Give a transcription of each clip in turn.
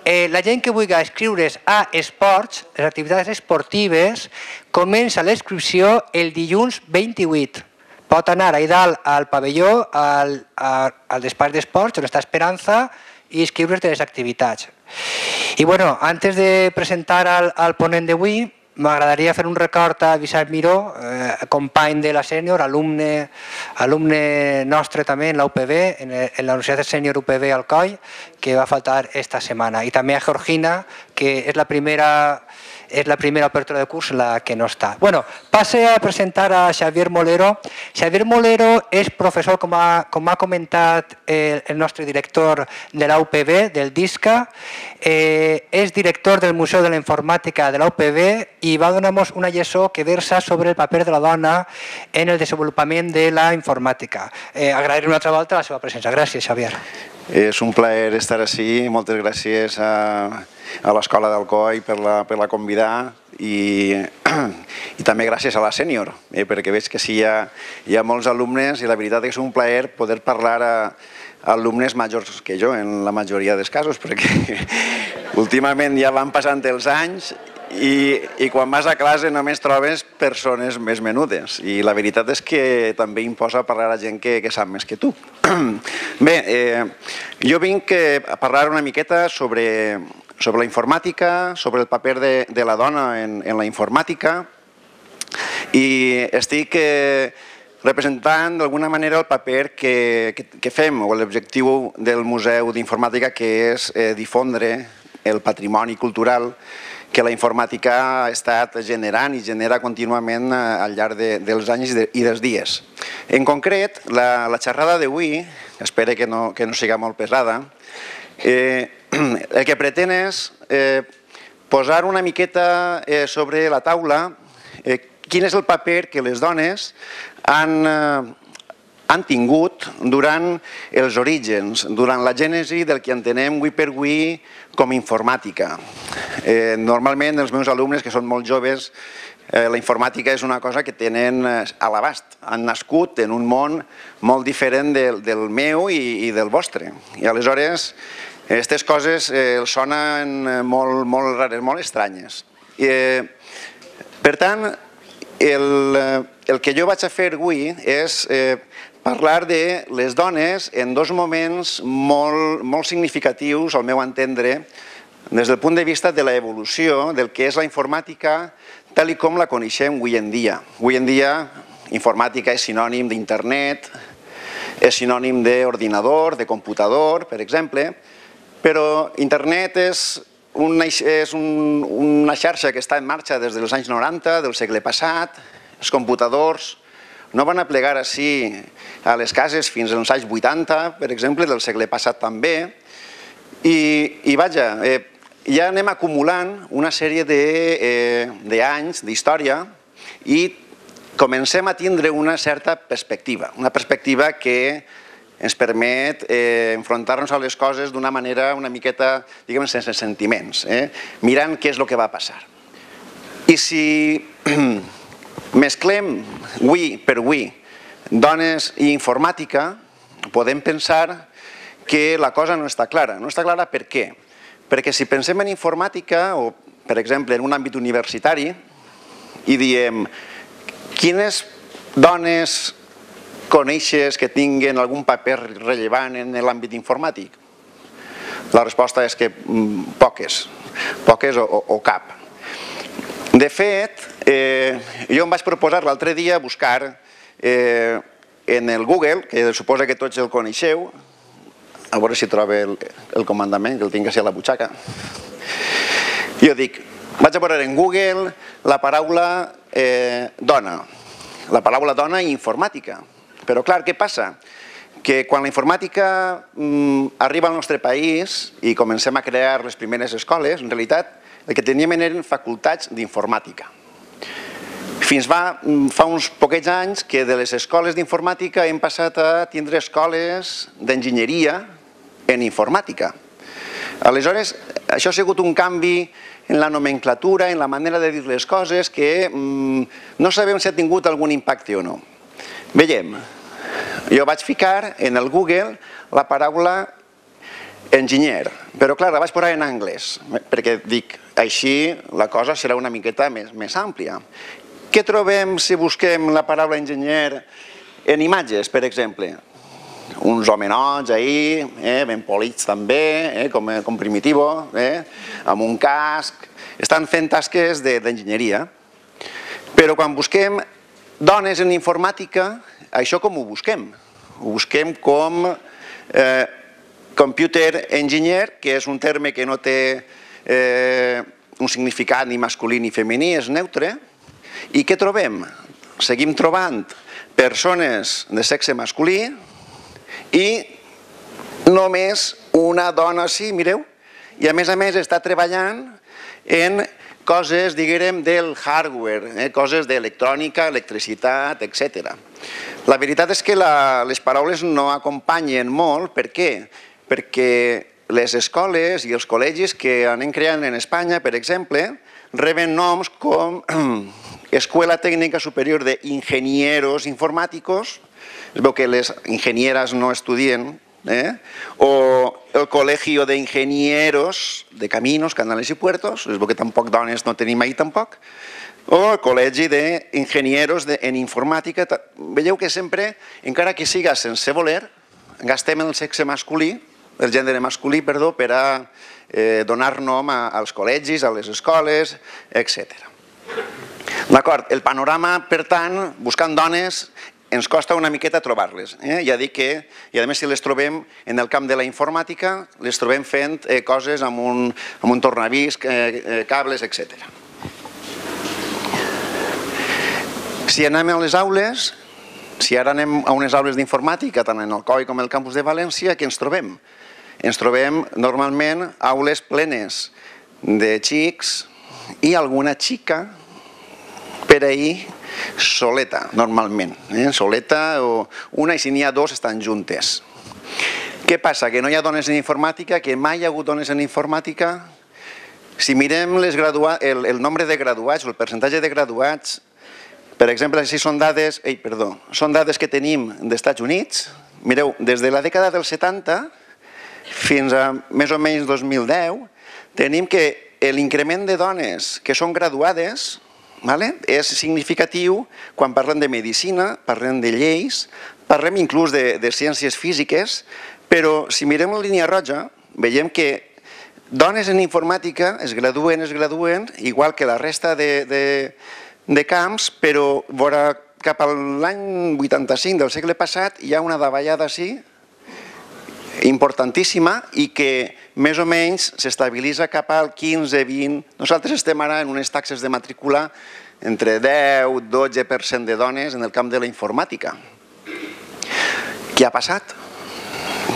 la gent que vulgui inscriure's a esports, les activitats esportives, comença la inscripció el dilluns 28. Pot anar ahí dalt al pavelló, al despatx d'esports, on està Esperanza, i inscriure's de les activitats. I bueno, antes de presentar al ponent d'avui, m'agradaria fer un record a Vicent Miró, company de la sènior, alumne nostre també en la UPB, en la Universitat Sènior UPB Alcoi, que va faltar esta setmana. I també a Georgina, que és la primera apertura de curs en la que no està. Bueno, passe a presentar a Xavier Molero. Xavier Molero és professor, com ha comentat el nostre director de la UPB, del DISCA, és director del Museu de la Informàtica de la UPB i va donar-nos una lliçó que versa sobre el paper de la dona en el desenvolupament de la informàtica. Agrair una altra volta la seva presència. Gràcies, Xavier. És un plaer estar així. Moltes gràcies a l'Escola d'Alcoi per la convidar i també gràcies a la sènior, perquè veig que sí hi ha molts alumnes i la veritat és un plaer poder parlar a alumnes majors que jo en la majoria dels casos, perquè últimament ja van passant els anys i quan vas a classe només trobes persones més menudes i la veritat és que també imposa parlar a gent que sap més que tu. Bé, jo vinc a parlar una miqueta sobre la informàtica, sobre el paper de la dona en la informàtica i estic representant d'alguna manera el paper que fem o l'objectiu del Museu d'Informàtica, que és difondre el patrimoni cultural que la informàtica ha estat generant i genera contínuament al llarg dels anys i dels dies. En concret, la xerrada d'avui, espero que no siga molt pesada, el que pretén és posar una miqueta sobre la taula quin és el paper que les dones han tingut durant els orígens, durant la gènesi del que entenem avui per avui com informàtica. Normalment els meus alumnes, que són molt joves, la informàtica és una cosa que tenen a l'abast. Han nascut en un món molt diferent del meu i del vostre. I aleshores aquestes coses els sonen molt rares, molt estranyes. Per tant, el que jo vaig a fer avui és parlar de les dones en dos moments molt significatius, al meu entendre, des del punt de vista de l'evolució del que és la informàtica tal com la coneixem avui en dia. Avui en dia, informàtica és sinònim d'internet, és sinònim d'ordinador, de computador, per exemple, però internet és una xarxa que està en marxa des dels anys 90 del segle passat. Els computadors no van aplegar així a les cases fins als anys 80, per exemple, del segle passat també. I vaja, ja anem acumulant una sèrie d'anys d'història i comencem a tindre una certa perspectiva, una perspectiva que ens permet enfrontar-nos a les coses d'una manera una miqueta, diguem, sense sentiments, mirant què és el que va passar. I si mesclem avui per avui dones i informàtica, podem pensar que la cosa no està clara. No està clara per què? Perquè si pensem en informàtica, o per exemple en un àmbit universitari, i diem quines dones coneixes que tinguin algun paper rellevant en l'àmbit informàtic? La resposta és que poques o cap. De fet, jo em vaig proposar l'altre dia buscar en el Google, que suposa que tots el coneixeu, a veure si trobo el comandament, que el tinc així a la butxaca. Jo dic, vaig a posar en Google la paraula dona, la paraula dona i informàtica. Però clar, què passa? Que quan la informàtica arriba al nostre país i comencem a crear les primeres escoles, en realitat el que teníem eren facultats d'informàtica. Fins fa uns poquets anys que de les escoles d'informàtica hem passat a tindre escoles d'enginyeria en informàtica. Aleshores, això ha sigut un canvi en la nomenclatura, en la manera de dir les coses, que no sabem si ha tingut algun impacte o no. Veiem, jo vaig ficar en el Google la paraula enginyer. Però clar, la vaig posar en anglès, perquè dic, així la cosa serà una miqueta més àmplia. Què trobem si busquem la paraula enginyer en imatges, per exemple? Uns homenots ahí, ben polits també, com Primitivo, amb un casc, estan fent tasques d'enginyeria. Però quan busquem dones en informàtica, això com ho busquem? Ho busquem com computer engineer, que és un terme que no té un significat ni masculí ni femení, és neutre. I què trobem? Seguim trobant persones de sexe masculí i només una dona, sí, mireu, i a més està treballant en coses, diguem, del hardware, coses d'electrònica, electricitat, etc. La veritat és que les paraules no acompanyen molt. Per què? Perquè les escoles i els col·legis que anem creant en Espanya, per exemple, reben noms com Escuela Técnica Superior de Ingenieros Informáticos, es veu que les ingenieres no estudien, o el Colegio de Ingenieros de Caminos, Canales i Puertos, es veu que tampoc dones no tenim ahir tampoc, o el Col·legi d'Ingenieros en Informàtica. Veieu que sempre, encara que siga sense voler, gastem el sexe masculí, el gènere masculí, perdó, per a donar nom als col·legis, a les escoles, etc. D'acord, el panorama, per tant, buscant dones, ens costa una miqueta trobar-les. Ja dic que, i a més si les trobem en el camp de la informàtica, les trobem fent coses amb un tornavís, cables, etc. Si anem a les aules, si ara anem a unes aules d'informàtica, tant en el COI com el campus de València, què ens trobem? Ens trobem normalment aules plenes de xics i alguna xica per ahir soleta, normalment. Soleta o una, i si n'hi ha dos estan juntes. Què passa? Que no hi ha dones en informàtica, que mai hi ha hagut dones en informàtica. Si mirem el nombre de graduats o el percentatge de graduats, per exemple, si són dades que tenim d'Estats Units, mireu, des de la dècada dels 70 fins a més o menys 2010, tenim que l'increment de dones que són graduades és significatiu quan parlem de medicina, parlem de lleis, parlem inclús de ciències físiques, però si mirem la línia roja, veiem que dones en informàtica es graduen, igual que la resta de camps, però cap a l'any 85 del segle passat hi ha una davallada així importantíssima i que més o menys s'estabilitza cap al 15-20. Nosaltres estem ara en unes taxes de matrícula entre 10-12% de dones en el camp de la informàtica. Què ha passat?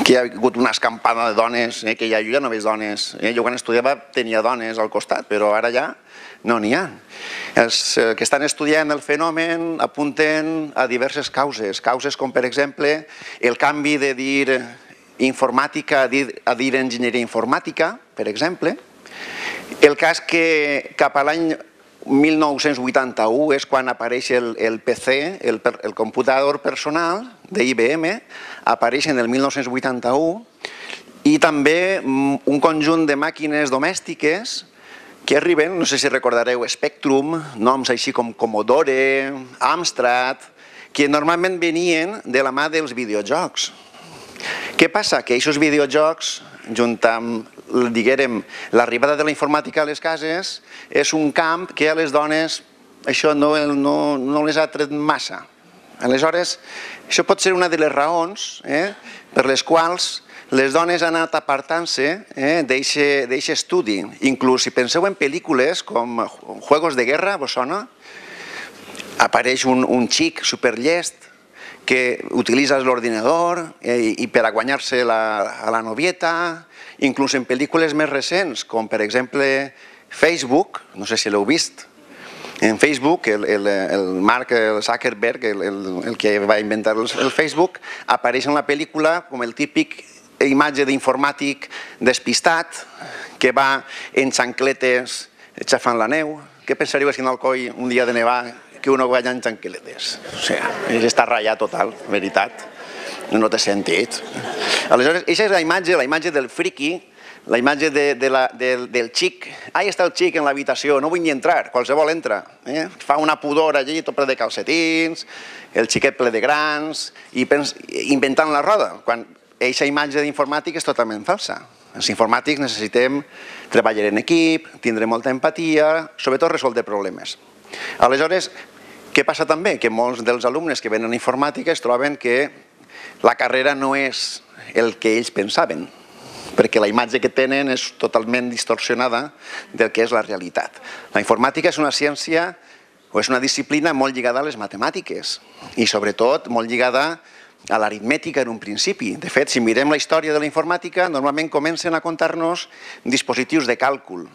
Que hi ha hagut una escampada de dones, que jo ja no veig dones. Jo quan estudiava tenia dones al costat, però ara ja no n'hi ha. Els que estan estudiant el fenomen apunten a diverses causes. Causes com, per exemple, el canvi de dir informàtica a dir enginyeria informàtica, per exemple. El cas que cap a l'any 1981 és quan apareix el PC, el computador personal d'IBM, apareix en el 1981, i també un conjunt de màquines domèstiques que arriben, no sé si recordareu, Spectrum, noms així com Commodore, Amstrad, que normalment venien de la mà dels videojocs. Què passa? Que aquests videojocs, junt amb, diguem, l'arribada de la informàtica a les cases, és un camp que a les dones això no les ha tret massa. Aleshores, això pot ser una de les raons per les quals les dones han anat apartant-se d'aquest estudi. Inclús si penseu en pel·lícules com Juegos de Guerra, vos sona? Apareix un xic superllest que utilitza l'ordinador i per a guanyar-se a la novieta, inclús en pel·lícules més recents, com per exemple Facebook, no sé si l'heu vist. En Facebook, el Mark Zuckerberg, el que va inventar el Facebook, apareix en la pel·lícula com el típic imatge d'informàtic despistat que va en xancletes xafant la neu. Què pensaríeu si en Alcoi un dia de nevar que uno vaya en xancletes? O sigui, està ratllat total, veritat. No té sentit. Aleshores, aquesta és la imatge del friqui, la imatge del xic. Ahí està el xic en l'habitació, no vull ni entrar, qualsevol entra. Fa una pudor allí, tot ple de calcetins, el xiquet ple de grans, i inventant la roda, quan aquesta imatge d'informàtica és totalment falsa. Els informàtics necessitem treballar en equip, tindre molta empatia, sobretot resoldre problemes. Aleshores, què passa també? Que molts dels alumnes que venen a informàtica es troben que la carrera no és el que ells pensaven, perquè la imatge que tenen és totalment distorsionada del que és la realitat. La informàtica és una ciència o és una disciplina molt lligada a les matemàtiques i sobretot molt lligada a l'aritmètica en un principi. De fet, si mirem la història de la informàtica, normalment comencen a contar-nos dispositius de càlcul.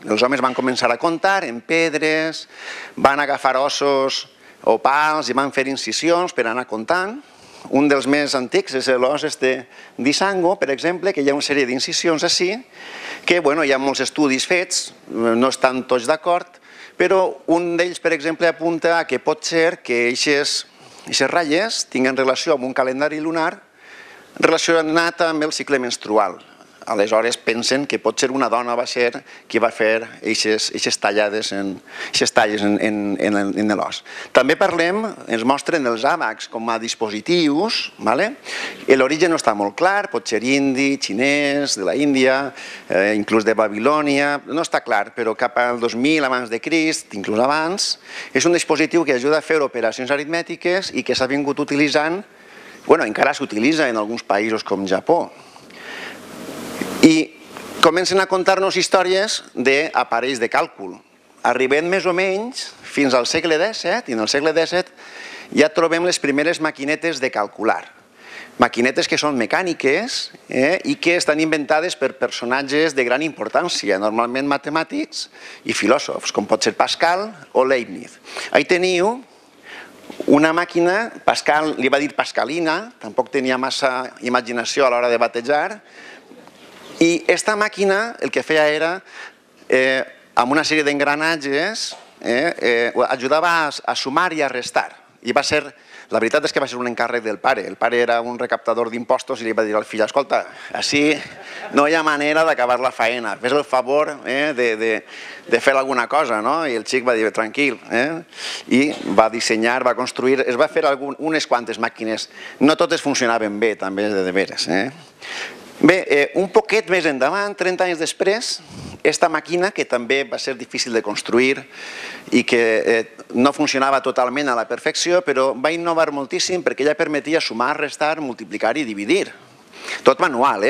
Els homes van començar a comptar en pedres, van agafar ossos o pals i van fer incisions per anar comptant. Un dels més antics és l'os d'Isango, per exemple, que hi ha una sèrie d'incisions així, que hi ha molts estudis fets, no estan tots d'acord, però un d'ells, per exemple, apunta que pot ser que aquestes ratlles tinguen relació amb un calendari lunar relacionat amb el cicle menstrual. Aleshores pensen que pot ser una dona va ser qui va fer aquestes talles en l'os. També parlem, ens mostren els àbacs com a dispositius, l'origen no està molt clar, pot ser indi, xinès, de la Índia, inclús de Babilònia, no està clar, però cap al 2000 abans de Crist, inclús abans, és un dispositiu que ajuda a fer operacions aritmètiques i que s'ha vingut utilitzant, encara s'utilitza en alguns països com Japó. I comencen a contar-nos històries d'aparells de càlcul. Arribem més o menys fins al segle XVII, i en el segle XVII ja trobem les primeres maquinetes de calcular. Maquinetes que són mecàniques i que estan inventades per personatges de gran importància, normalment matemàtics i filòsofs, com pot ser Pascal o Leibniz. Ahí teniu una màquina, Pascal li va dir Pascalina, tampoc tenia massa imaginació a l'hora de batejar, i aquesta màquina el que feia era, amb una sèrie d'engranatges, ajudava a sumar i a restar. La veritat és que va ser un encàrrec del pare. El pare era un recaptador d'impostos i li va dir al fill, escolta, així no hi ha manera d'acabar la faena, fes el favor de fer alguna cosa, no? I el xic va dir, tranquil, i va dissenyar, va construir, es va fer unes quantes màquines. No totes funcionaven bé, també, de veres. Bé, un poquet més endavant, 30 anys després, aquesta màquina, que també va ser difícil de construir i que no funcionava totalment a la perfecció, però va innovar moltíssim perquè ella permetia sumar, restar, multiplicar i dividir. Tot manual,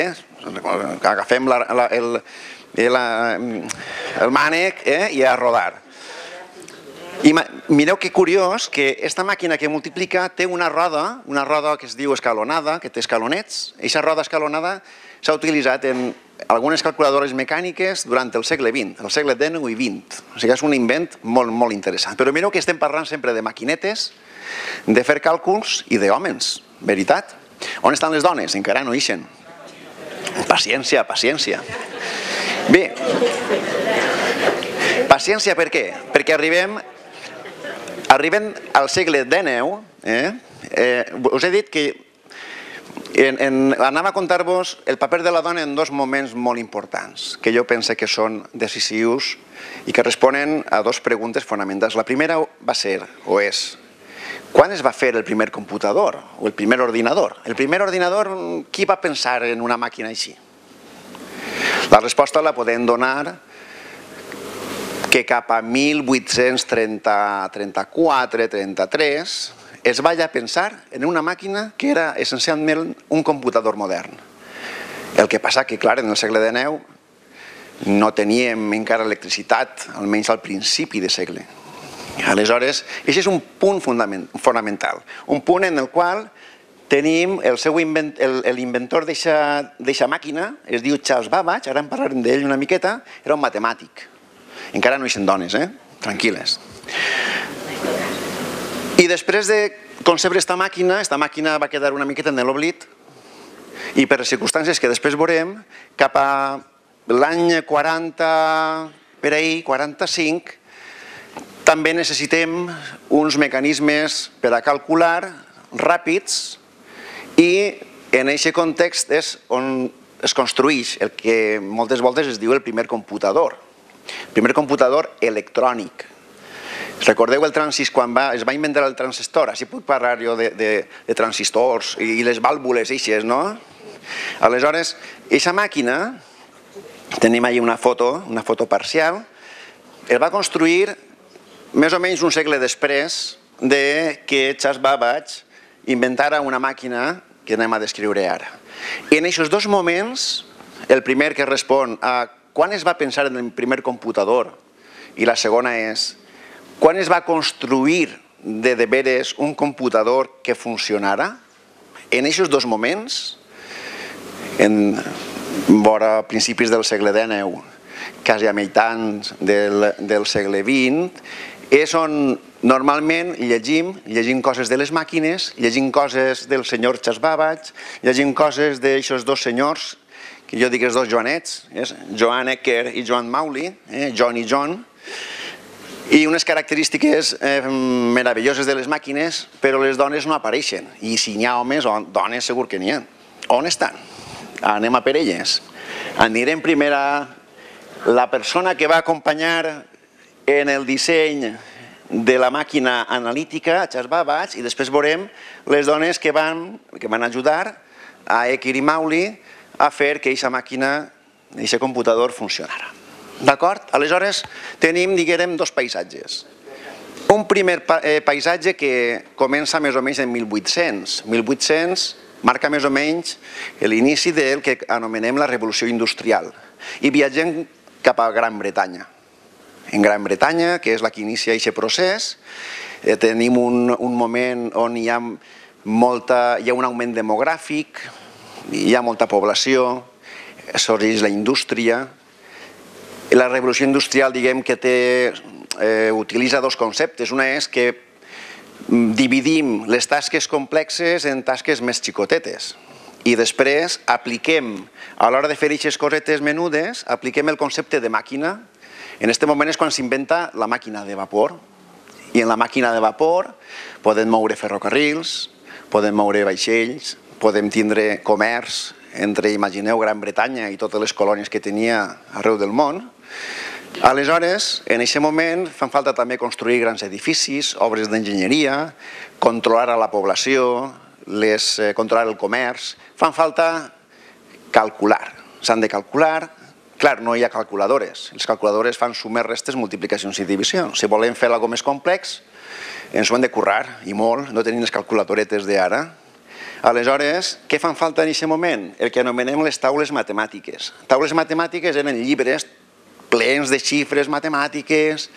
agafem el mànec i a rodar. I mireu que curiós que aquesta màquina que multiplica té una roda que es diu escalonada, que té escalonets. Aquesta roda escalonada s'ha utilitzat en algunes calculadores mecàniques durant el segle XX, el segle XIX i XX. O sigui, és un invent molt, molt interessant. Però mireu que estem parlant sempre de maquinetes, de fer càlculs i d'hòmens, veritat? On estan les dones? Encara no ixen. Paciència, paciència. Bé, paciència per què? Perquè arribem al segle XIX, us he dit que anava a contar-vos el paper de la dona en dos moments molt importants, que jo penso que són decisius i que responen a dues preguntes fonamentals. La primera va ser, o és, quan es va fer el primer computador o el primer ordinador? El primer ordinador, qui va pensar en una màquina així? La resposta la podem donar que cap a 1834-33 es va ja pensar en una màquina que era essencialment un computador modern. El que passa que, clar, en el segle XIX no teníem encara electricitat, almenys al principi de segle. Aleshores, aquest és un punt fonamental, un punt en el qual tenim l'inventor d'aquesta màquina, es diu Charles Babbage, ara en parlarem d'ell una miqueta, era un matemàtic. Encara no hi són dones, tranquil·les. I després de concebre aquesta màquina va quedar una miqueta en l'oblit i per les circumstàncies que després veurem, cap a l'any 40, per ahir, 45, també necessitem uns mecanismes per a calcular ràpids I en aquest context és on es construeix el que moltes voltes es diu el primer computador electrònic. Recordeu el transistor, quan es va inventar el transistor? Així puc parlar jo de transistors i les vàlvules eixes, no? Aleshores, aquesta màquina, tenim allà una foto parcial, es va construir més o menys un segle després que Charles Babbage inventara una màquina que anem a descriure ara. I en aquests dos moments, el primer que respon a quan es va pensar en el primer computador i la segona és quan es va construir de veres un computador que funcionara, en aquests dos moments, vora principis del segle XIX, quasi a meitats del segle XX, és on normalment llegim coses de les màquines, llegim coses del senyor Charles Babbage, llegim coses d'aixòs dos senyors, que jo dic els dos Joanets, Joan Ecker i Joan Mauly, John i John, i unes característiques meravelloses de les màquines, però les dones no apareixen, i si n'hi ha homes o dones segur que n'hi ha. On estan? Anem a per elles. Anirem primer a la persona que va acompanyar en el disseny de la màquina analítica, a Charles Babbage, i després veurem les dones que van ajudar a Ecker i Mauly a fer que aquesta màquina, aquest computador funcionara. D'acord? Aleshores tenim, diguem, dos paisatges. Un primer paisatge que comença més o menys en 1800. 1800 marca més o menys l'inici del que anomenem la revolució industrial. I viatgem cap a Gran Bretanya. En Gran Bretanya, que és la que inicia aquest procés, tenim un moment on hi ha un augment demogràfic, hi ha molta població, sorgeix la indústria. La revolució industrial, diguem que utilitza dos conceptes. Una és que dividim les tasques complexes en tasques més xicotetes i després apliquem, a l'hora de fer aquestes cosetes menudes, apliquem el concepte de màquina. En aquest moment és quan s'inventa la màquina de vapor, i en la màquina de vapor podem moure ferrocarrils, podem moure vaixells, podem tindre comerç entre, imagineu, Gran Bretanya i totes les colònies que tenia arreu del món. Aleshores, en aquest moment fan falta també construir grans edificis, obres d'enginyeria, controlar a la població, controlar el comerç, fan falta calcular, s'han de calcular. Clar, no hi ha calculadores. Les calculadores fan sumes, restes, multiplicacions i divisions. Si volem fer alguna cosa més complex, ens ho hem de currar, i molt, no tenim les calculadoretes d'ara. Aleshores, què fan falta en aquest moment? El que anomenem les taules matemàtiques. Taules matemàtiques eren llibres plens de xifres matemàtiques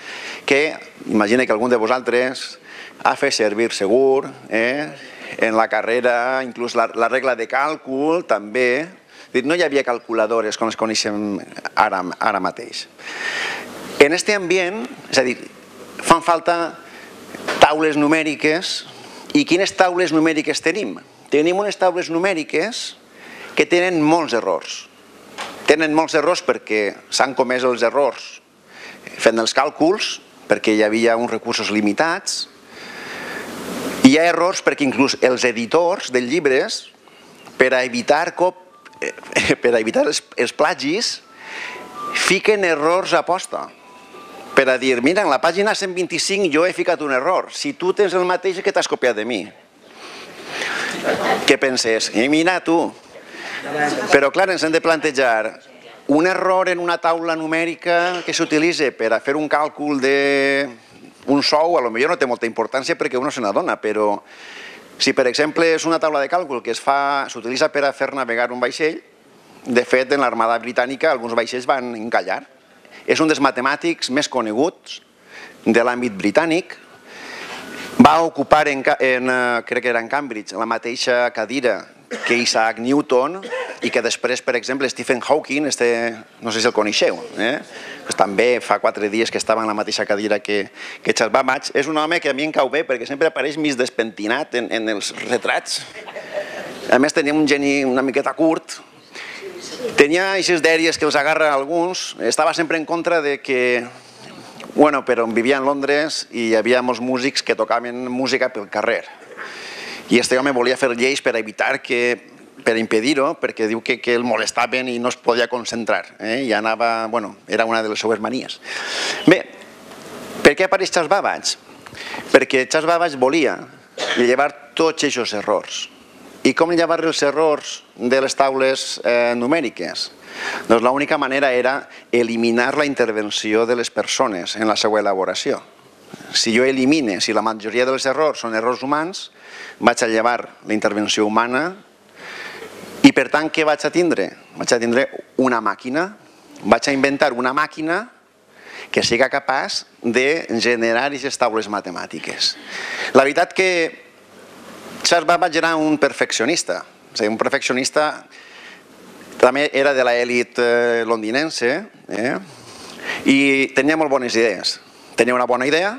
que, imagina que algun de vosaltres ha fet servir segur, en la carrera, inclús la regla de càlcul també. No hi havia calculadores com les coneixem ara mateix. En aquest ambient, és a dir, fan falta taules numèriques. I quines taules numèriques tenim? Tenim unes taules numèriques que tenen molts errors. Tenen molts errors perquè s'han comès els errors fent els càlculs, perquè hi havia uns recursos limitats. Hi ha errors perquè inclús els editors dels llibres, per a evitar els plagis, fiquen errors a posta. Per a dir, mira, en la pàgina 125 jo he ficat un error. Si tu tens el mateix que t'has copiat de mi. Què penses? Mira tu. Però clar, ens hem de plantejar un error en una taula numèrica que s'utilitza per a fer un càlcul d'un sou, potser no té molta importància perquè uno se n'adona, però si per exemple és una taula de càlcul que s'utilitza per a fer navegar un vaixell, de fet en l'Armada Britànica alguns vaixells van encallar. És un dels matemàtics més coneguts de l'àmbit britànic. Va ocupar, crec que era en Cambridge, la mateixa cadira que Isaac Newton i que després, per exemple, Stephen Hawking, no sé si el coneixeu, també fa 4 dies que estava en la mateixa cadira que Charles Babbage. És un home que a mi em cau bé perquè sempre apareix mig despentinat en els retrats. A més, tenia un geni una miqueta curt. Tenia aquestes dèries que els agarra alguns. Estava sempre en contra de que, però vivia en Londres i hi havia molts músics que tocaven música pel carrer. I este home volia fer lleis per evitar que per impedir-ho, perquè diu que el molestaven i no es podia concentrar. I anava, bueno, era una de les seues manies. Bé, per què apareix Charles Babbage? Perquè Charles Babbage volia llevar tots aquests errors. I com llevar els errors de les taules numèriques? Doncs l'única manera era eliminar la intervenció de les persones en la seva elaboració. Si jo elimine, si la majoria dels errors són errors humans, vaig a llevar la intervenció humana i per tant què vaig a tindre? Vaig a tindre una màquina, vaig a inventar una màquina que siga capaç de generar aquestes taules matemàtiques. La veritat que Charles Babbage era un perfeccionista, un perfeccionista també era de l'elit londinense i tenia molt bones idees. Tenia una bona idea,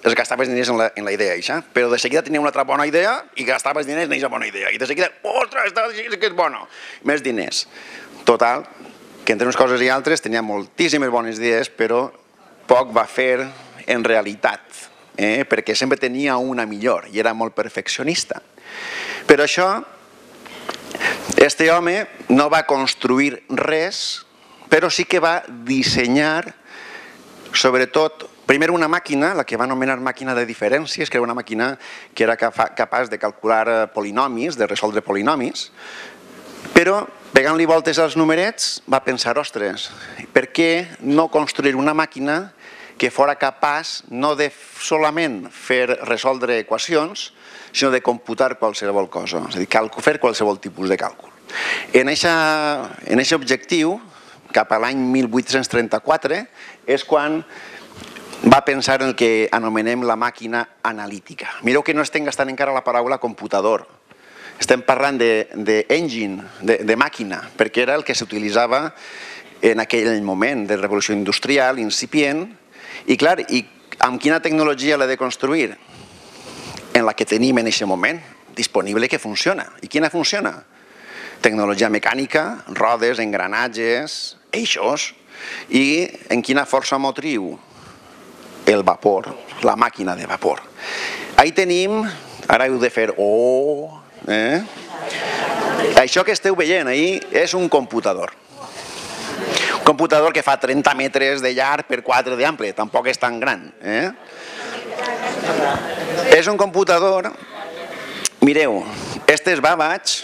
es gastava els diners en la idea, però de seguida tenia una altra bona idea i gastava els diners en aquesta bona idea. I de seguida, ostres, que és bona, més diners. Total, que entre unes coses i altres tenia moltíssimes bones idees, però poc va fer en realitat, perquè sempre tenia una millor i era molt perfeccionista. Per això, este home no va construir res, però sí que va dissenyar, sobretot, primer una màquina, la que va anomenar màquina de diferències, que era una màquina que era capaç de calcular polinomis, de resoldre polinomis, però pegant-li voltes als numerets va pensar, ostres, per què no construir una màquina que fora capaç no de solament resoldre equacions, sinó de computar qualsevol cosa, és a dir, fer qualsevol tipus de càlcul. En aquest objectiu, cap a l'any 1834, és quan va pensar en el que anomenem la màquina analítica. Mireu que no estem gastant encara la paraula computador. Estem parlant d'engine, de màquina, perquè era el que s'utilitzava en aquell moment de revolució industrial, incipient, i clar, amb quina tecnologia l'he de construir? En la que tenim en aquest moment, disponible, que funciona. I quina funciona? Tecnologia mecànica, rodes, engranatges, eixos, i en quina força motriu? El vapor, la màquina de vapor. Ahí tenim, ara heu de fer això que esteu veient ahí és un computador. Un computador que fa 30 metres de llarg per 4 d'ample, tampoc és tan gran. És un computador, mireu, este és Babbage,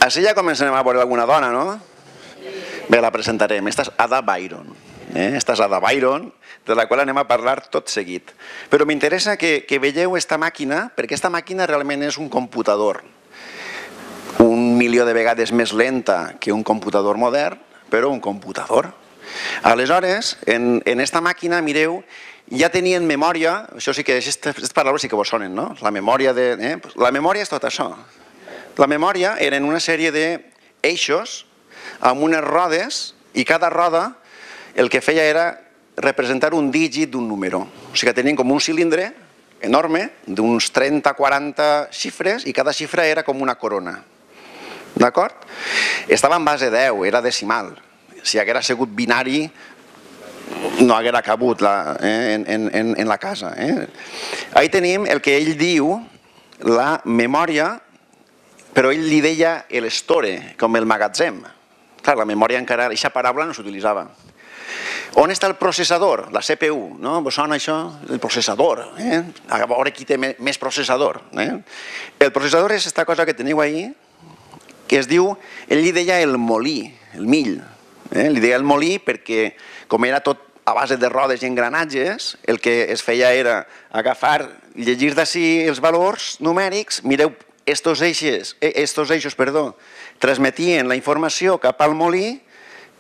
així ja comencem a veure alguna dona, no? Bé, la presentarem, esta és Ada Byron. Esta és Ada Byron, de la qual anem a parlar tot seguit. Però m'interessa que veieu aquesta màquina, perquè aquesta màquina realment és un computador. 1.000.000 de vegades més lenta que un computador modern, però un computador. Aleshores, en aquesta màquina, mireu, ja tenien memòria, això sí que, aquestes paraules sí que vos sonen, no? La memòria és tot això. La memòria eren una sèrie d'eixos amb unes rodes i cada roda el que feia era representar un dígit d'un número. O sigui que tenien com un cilindre enorme d'uns 30-40 xifres i cada xifra era com una corona. D'acord? Estava en base 10, era decimal. Si haguera sigut binari no haguera cabut en la casa. Ahí tenim el que ell diu la memòria, però ell li deia l'estore, com el magatzem. Clar, la memòria encara, aquesta paraula no s'utilitzava. On està el processador? La CPU, no? Vos sona això? El processador. A veure qui té més processador. El processador és aquesta cosa que teniu ahí, que es diu, ell li deia el molí, el mill. Li deia el molí perquè, com era tot a base de rodes i engranatges, el que es feia era agafar, llegir d'ací els valors numèrics, mireu, estos eixos, transmetien la informació cap al molí,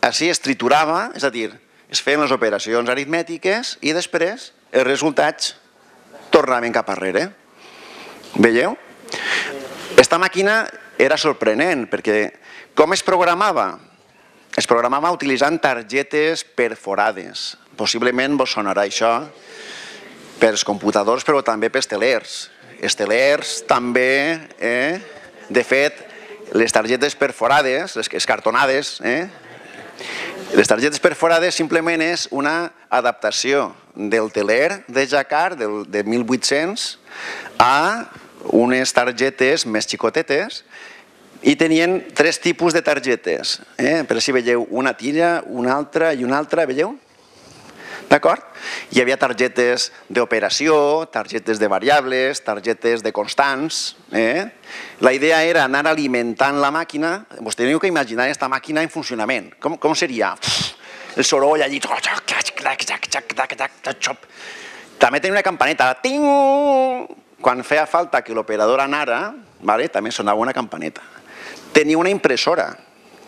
així es triturava, és a dir, es feien les operacions aritmètiques i després els resultats tornaven cap arrere. Veieu? Aquesta màquina era sorprenent perquè com es programava? Es programava utilitzant targetes perforades. Possiblement vos sonarà això pels computadors però també pels telers. Els telers també, de fet, les targetes perforades, les cartonades, les targetes perforades simplement és una adaptació del teler de Jacquard de 1800 a unes targetes més xicotetes i tenien 3 tipus de targetes. Per si veieu una tira, una altra i una altra, veieu? D'acord? Hi havia targetes d'operació, targetes de variables, targetes de constants. La idea era anar alimentant la màquina. Vos teniu que imaginar aquesta màquina en funcionament. Com seria? El soroll allí. També tenia una campaneta. Quan feia falta que l'operador anara, també sonava una campaneta. Tenia una impressora.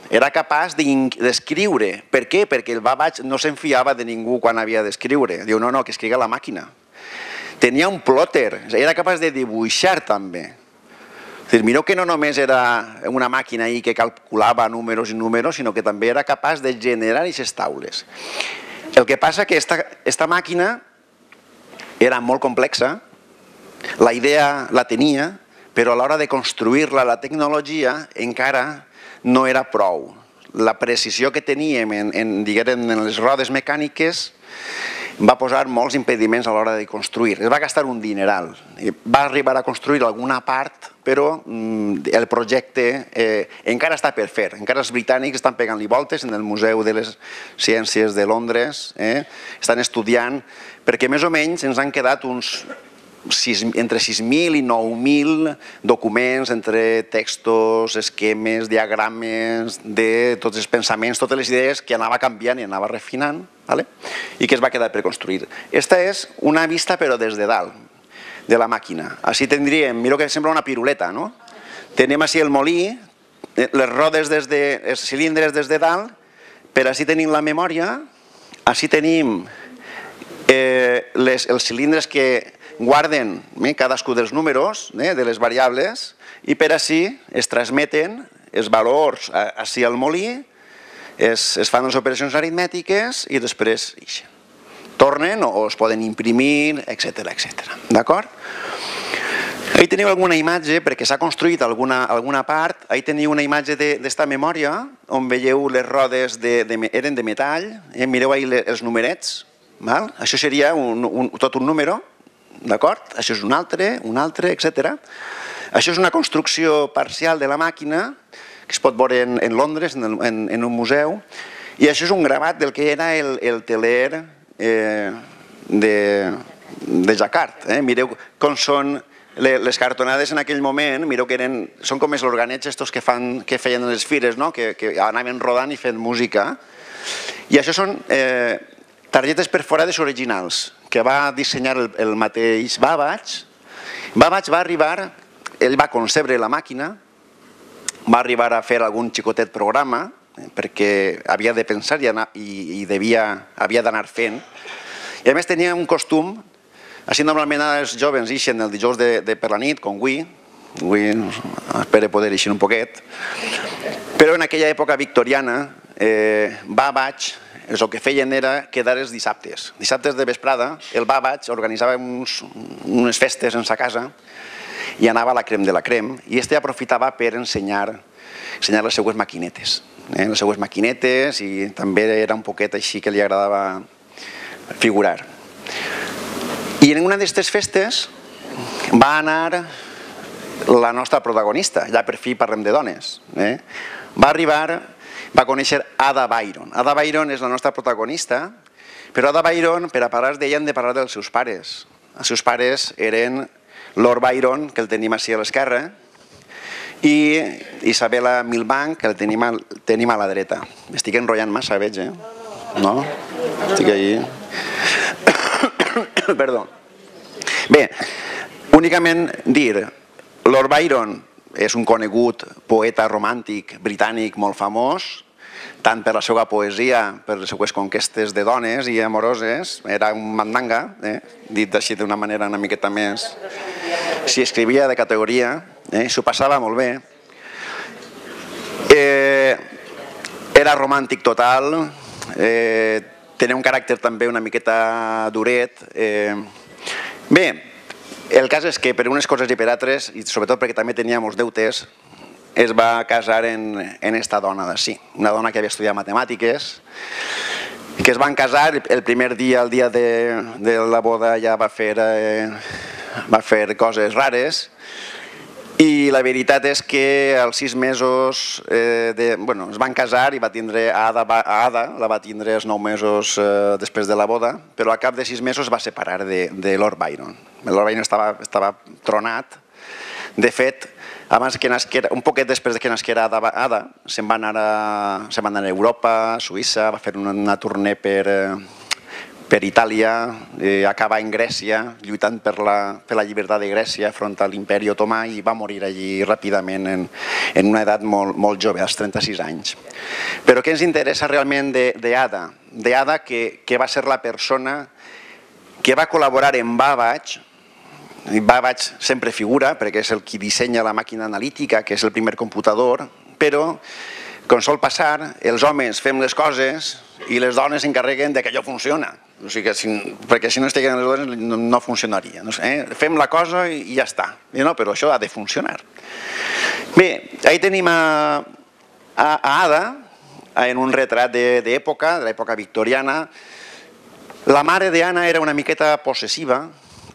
Era capaç d'escriure. Per què? Perquè el Babbage no s'enfiava de ningú quan havia d'escriure. Diu, no, que escrigui la màquina. Tenia un plotter. Era capaç de dibuixar també. Mireu que no només era una màquina que calculava números i números, sinó que també era capaç de generar aquestes taules. El que passa que aquesta màquina era molt complexa, la idea la tenia, però a l'hora de construir-la, la tecnologia encara no era prou. La precisió que teníem en les rodes mecàniques va posar molts impediments a l'hora de construir. Es va gastar un dineral. Va arribar a construir alguna part, però el projecte encara està per fer. Encara els britànics estan pegant-li voltes en el Museu de les Ciències de Londres. Estan estudiant, perquè més o menys ens han quedat entre 6.000 i 9.000 documents entre textos, esquemes, diagrames, de tots els pensaments, totes les idees que anava canviant i anava refinant i que es va quedar per construir. Aquesta és una vista però des de dalt de la màquina. Així tindríem, mireu que sembla una piruleta, no? Tenim així el molí, les rodes, els cilindres des de dalt, per així tenim la memòria, així tenim els cilindres que guarden cadascú dels números, de les variables, i per així es transmeten els valors així al molí, es fan les operacions aritmètiques i després tornen o es poden imprimir, etc. D'acord? Ahí teniu alguna imatge, perquè s'ha construït alguna part, ahí teniu una imatge d'esta memòria, on veieu les rodes eren de metall, mireu ahí els numerets, això seria tot un número, d'acord? Això és un altre, etc. Això és una construcció parcial de la màquina que es pot veure en Londres, en un museu, i això és un gravat del que era el teler de Jacquard. Mireu com són les cartonades en aquell moment, mireu que són com els organets estos que feien les fires, que anaven rodant i fent música, i això són targetes perforades originals que va dissenyar el mateix Babbage. Babbage va arribar, ell va concebre la màquina, va arribar a fer algun xicotet programa, perquè havia de pensar i havia d'anar fent. I a més tenia un costum, així normalment els jovens ixen el dijous per la nit, com avui espero poder eixir un poquet, però en aquella època victoriana, Babbage, el que feien era quedar els dissabtes. Dissabtes de vesprada, el Babbage organitzava unes festes en sa casa i anava a la crem de la crem, i este aprofitava per ensenyar les seues maquinetes. Les seues maquinetes, i també era un poquet així que li agradava figurar. I en una d'aquestes festes va anar la nostra protagonista, ja per fi parlem de dones. Va arribar, va conèixer Ada Byron. Ada Byron és la nostra protagonista, però Ada Byron, per a parlar d'ella, hem de parlar dels seus pares. Els seus pares eren Lord Byron, que el tenim així a l'esquerra, i Isabella Milbank, que el tenim a la dreta. M'estic enrotllant massa, veig, No? Estic allí. Perdó. Bé, únicament dir, Lord Byron és un conegut poeta romàntic britànic molt famós, tant per la seva poesia, per les seues conquestes de dones i amoroses. Era un mandanga, dit així d'una manera una miqueta més. S'hi escrivia de categoria, s'ho passava molt bé. Era romàntic total, tenia un caràcter també una miqueta duret. Bé, el cas és que per unes coses i per altres, i sobretot perquè també tenia molts deutes, es va casar en esta dona d'ací, una dona que havia estudiat matemàtiques, que es van casar el primer dia, el dia de la boda, ja va fer va fer coses rares, i la veritat és que als 6 mesos es van casar i va tindre Ada, la va tindre els 9 mesos després de la boda, però al cap de 6 mesos va separar de Lord Byron. Lord Byron estava tronat. De fet, un poquet després que nasquera Ada, se'n va anar a Europa, a Suïssa, va fer una tournée per Itàlia, acaba en Grècia, lluitant per la llibertat de Grècia front a l'imperi otomà, i va morir allí ràpidament en una edat molt jove, als 36 anys. Però què ens interessa realment d'Ada? D'Ada, que va ser la persona que va col·laborar amb Babbage. Babbage sempre figura perquè és el qui dissenya la màquina analítica, que és el primer computador, però, com sol passar, els homes fem les coses i les dones s'encarreguen que allò funciona. Perquè si no estiguen les dones no funcionaria. Fem la cosa i ja està. Però això ha de funcionar. Bé, ahí tenim a Ada en un retrat d'època, de l'època victoriana. La mare d'Anna era una miqueta possessiva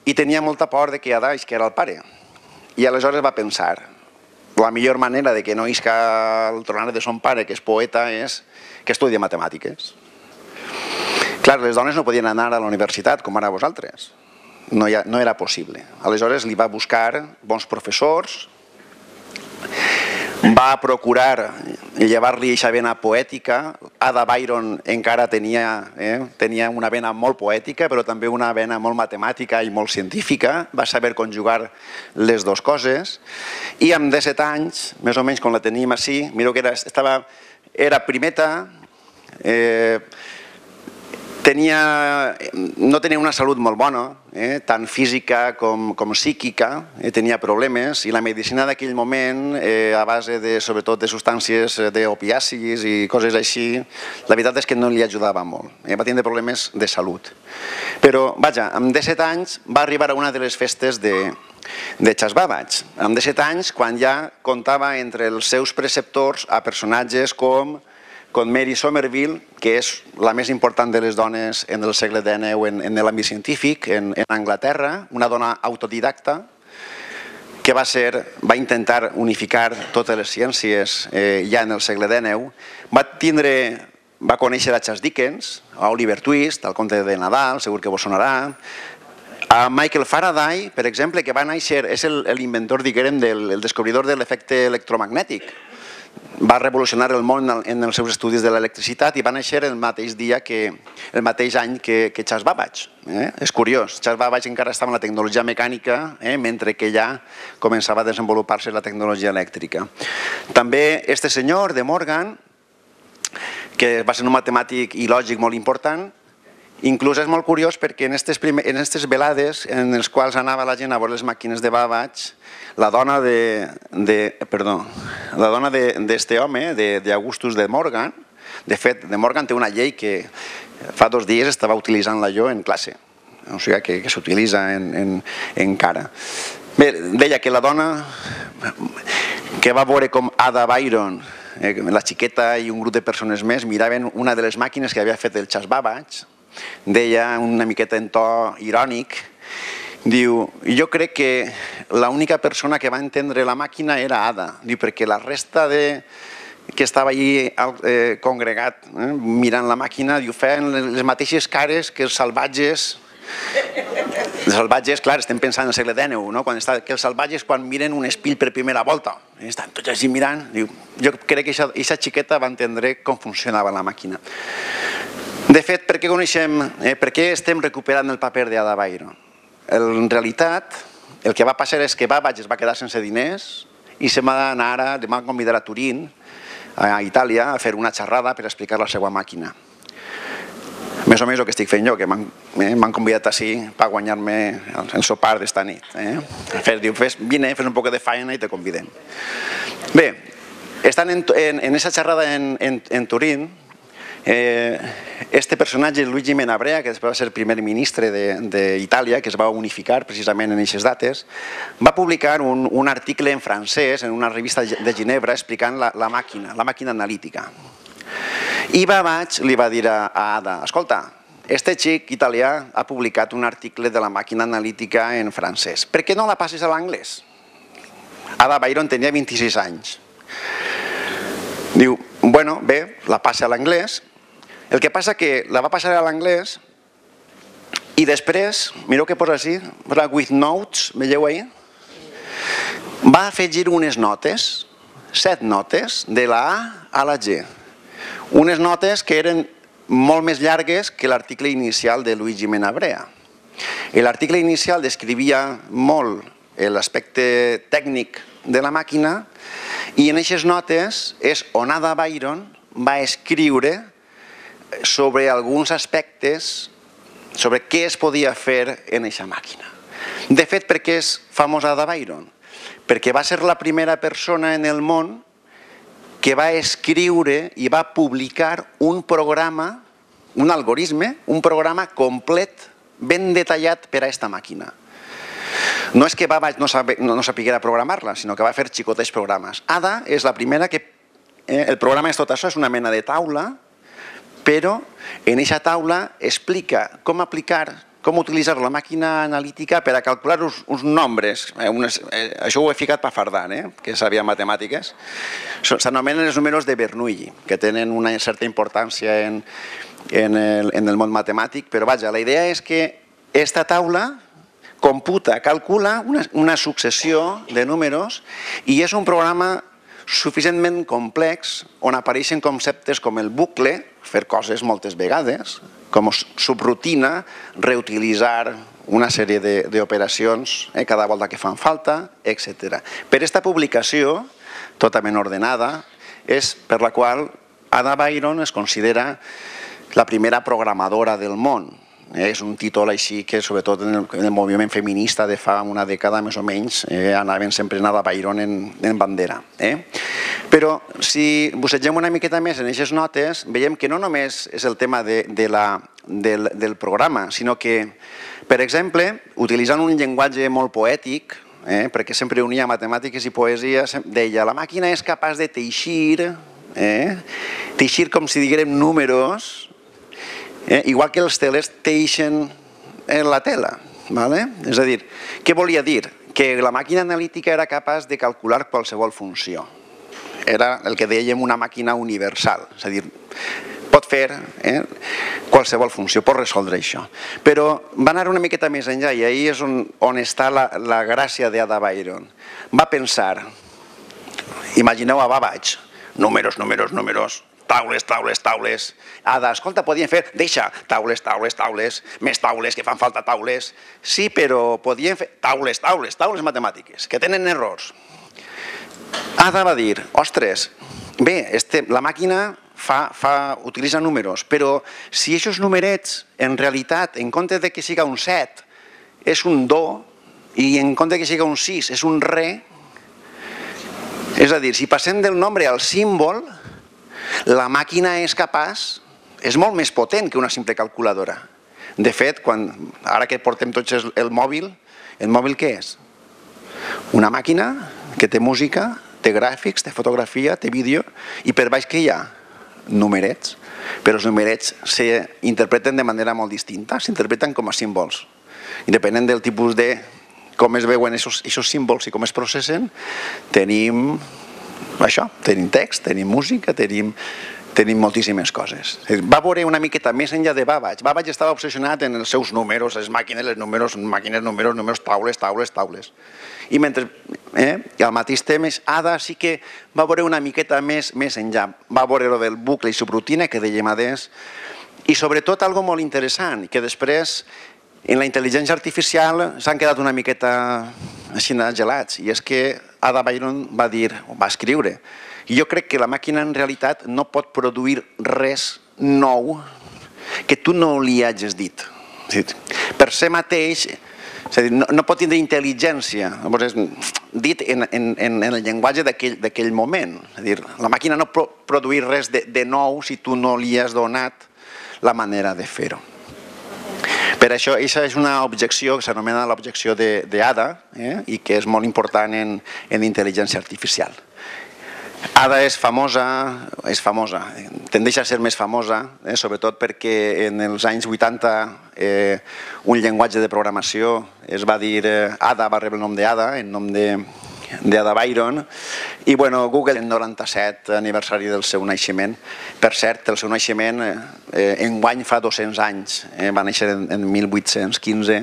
i tenia molta por que Ada isquera el pare. I aleshores va pensar, la millor manera de que no isca el tronar de son pare, que és poeta, és que estudia matemàtiques. Clar, les dones no podien anar a la universitat, com ara vosaltres. No era possible. Aleshores li va buscar bons professors, va procurar llevar-li aquesta vena poètica. Ada Byron encara tenia una vena molt poètica, però també una vena molt matemàtica i molt científica. Va saber conjugar les dues coses. I amb 17 anys, més o menys quan la tenim així, mireu que era primeta, no tenia una salut molt bona, tant física com psíquica, tenia problemes, i la medicina d'aquell moment, a base sobretot de substàncies d'opiacis i coses així, la veritat és que no li ajudava molt. Va tindre problemes de salut. Però, vaja, amb 17 anys va arribar a una de les festes de Charles Babbage. Amb 17 anys, quan ja comptava entre els seus preceptors a personatges com Mary Somerville, que és la més important de les dones en el segle XIX en l'àmbit científic, en Anglaterra, una dona autodidacta que va intentar unificar totes les ciències ja en el segle XIX. Va conèixer a Charles Dickens, a Oliver Twist, al Conte de Nadal, segur que vos sonarà, a Michael Faraday, per exemple, que va néixer, és l'inventor, diguem, el descobridor de l'efecte electromagnètic. Va revolucionar el món en els seus estudis de l'electricitat i va néixer el mateix any que Charles Babbage. És curiós, Charles Babbage encara estava en la tecnologia mecànica, mentre que ja començava a desenvolupar-se la tecnologia elèctrica. També este senyor, De Morgan, que va ser un matemàtic i lògic molt important. Inclús és molt curiós perquè en aquestes velades en les quals anava la gent a veure les màquines de Babbage, la dona d'este home, d'Augustus de Morgan, de fet, de Morgan té una llei que fa 2 dies estava utilitzant-la jo en classe, o sigui que s'utilitza encara. Bé, deia que la dona que va veure com Ada Byron, la xiqueta i un grup de persones més miraven una de les màquines que havia fet el Charles Babbage, deia una miqueta en to irònic, diu, jo crec que l'única persona que va entendre la màquina era Ada, perquè la resta que estava allí congregat mirant la màquina feien les mateixes cares que els salvatges. Els salvatges, clar, estem pensant en el segle XIX, que els salvatges quan miren un espill per primera volta, estan tots així mirant, jo crec que aquesta xiqueta va entendre com funcionava la màquina. De fet, per què estem recuperant el paper d'Ada Byron? En realitat, el que va passar és que Babbage es va quedar sense diners i se va convidar a Turín, a Itàlia, a fer una xerrada per explicar la seva màquina. Més o menys el que estic fent jo, que m'han convidat així per guanyar-me el sopar d'esta nit. Diu, vine, fes un poc de feina i te convidem. Bé, estan en aquesta xerrada en Turín, este personatge, Luigi Menabrea, que després va ser primer ministre d'Itàlia, que es va unificar precisament en aquestes dates, va publicar un article en francès en una revista de Ginebra explicant la màquina analítica. I Babbage li va dir a Ada, escolta, este xic italià ha publicat un article de la màquina analítica en francès. Per què no la passes a l'anglès? Ada Byron tenia 26 anys. Diu, bueno, bé, la passa a l'anglès. El que passa que la va passar a l'anglès i després, mireu què posa així, with notes, veieu ahir? Va afegir unes notes, 7 notes, de la A a la G. Unes notes que eren molt més llargues que l'article inicial de Luigi Menabrea. L'article inicial descrivia molt l'aspecte tècnic de la màquina i en aquestes notes és on Ada Byron va escriure sobre alguns aspectes, sobre què es podia fer en aquesta màquina. De fet, per què és famosa Ada Byron? Perquè va ser la primera persona en el món que va escriure i va publicar un programa, un algoritme, un programa complet, ben detallat per a aquesta màquina. No és que Babbage no sapiguera programar-la, sinó que va fer xicotets programes. Ada és la primera que... El programa és tot això, és una mena de taula, però en aquesta taula explica com aplicar, com utilitzar la màquina analítica per a calcular uns nombres. Això ho he ficat per fardar, que sabia matemàtiques. S'anomenen els números de Bernoulli, que tenen una certa importància en el món matemàtic, però vaja, la idea és que aquesta taula computa, calcula una successió de números i és un programa suficientment complex on apareixen conceptes com el bucle, fer coses moltes vegades, com subrutina, reutilitzar una sèrie d'operacions cada volta que fan falta, etc. Per aquesta publicació, totalment ordenada, és per la qual Ada Byron es considera la primera programadora del món. És un títol així que, sobretot en el moviment feminista de fa una dècada més o menys, anaven sempre en Ada Byron en bandera. Però si bussegem una miqueta més en aquestes notes, veiem que no només és el tema del programa, sinó que, per exemple, utilitzant un llenguatge molt poètic, perquè sempre unia matemàtiques i poesia, deia, la màquina és capaç de teixir com si diguérem números, igual que els telers teixen en la tela. És a dir, què volia dir? Que la màquina analítica era capaç de calcular qualsevol funció. Era el que dèiem una màquina universal, és a dir, pot fer qualsevol funció, pot resoldre això. Però va anar una miqueta més enllà i ahir és on està la gràcia d'Ada Byron. Va pensar, imagineu a Babbage, números, números, números, taules, taules, taules. Ada, escolta, podien fer, deixa, taules, taules, taules, més taules, que fan falta taules. Sí, però podien fer taules, taules, taules matemàtiques, que tenen errors. Ada va dir, ostres, bé, la màquina utilitza números, però si aquests numerets, en realitat, en compte que siga un 7, és un do, i en compte que siga un 6, és un re, és a dir, si passem del nombre al símbol, la màquina és capaç, és molt més potent que una simple calculadora. De fet, ara que portem tots el mòbil què és? Una màquina que té música, té gràfics, té fotografia, té vídeo, i per baix què hi ha? Numerets. Però els numerets s'interpreten de manera molt distinta, s'interpreten com a símbols. I depenent del tipus de com es veuen aquests símbols i com es processen, tenim això, tenim text, tenim música, tenim moltíssimes coses. Va veure una miqueta més enllà de Babbage. Babbage estava obsessionat en els seus números, les màquines, números, taules, taules, taules. I al mateix temps, Ada sí que va veure una miqueta més enllà. Va veure el del bucle i subrutina, que dèiem adés, i sobretot algo molt interessant, que després en la intel·ligència artificial s'han quedat una miqueta així gelats, i és que Ada Byron va dir, va escriure, i jo crec que la màquina en realitat no pot produir res nou que tu no li hagis dit. Per ser mateix, no pot tindre intel·ligència, dit en el llenguatge d'aquell moment. La màquina no pot produir res de nou si tu no li has donat la manera de fer-ho. Per això, aquesta és una objecció que s'anomena l'objecció d'Ada i que és molt important en intel·ligència artificial. Ada és famosa, tendeix a ser més famosa, sobretot perquè en els anys 80 un llenguatge de programació es va dir Ada, va rebre el nom d'Ada, en nom d'Ada Byron, i Google en 97 aniversari del seu naixement. Per cert, el seu naixement enguany fa 200 anys, va néixer en 1815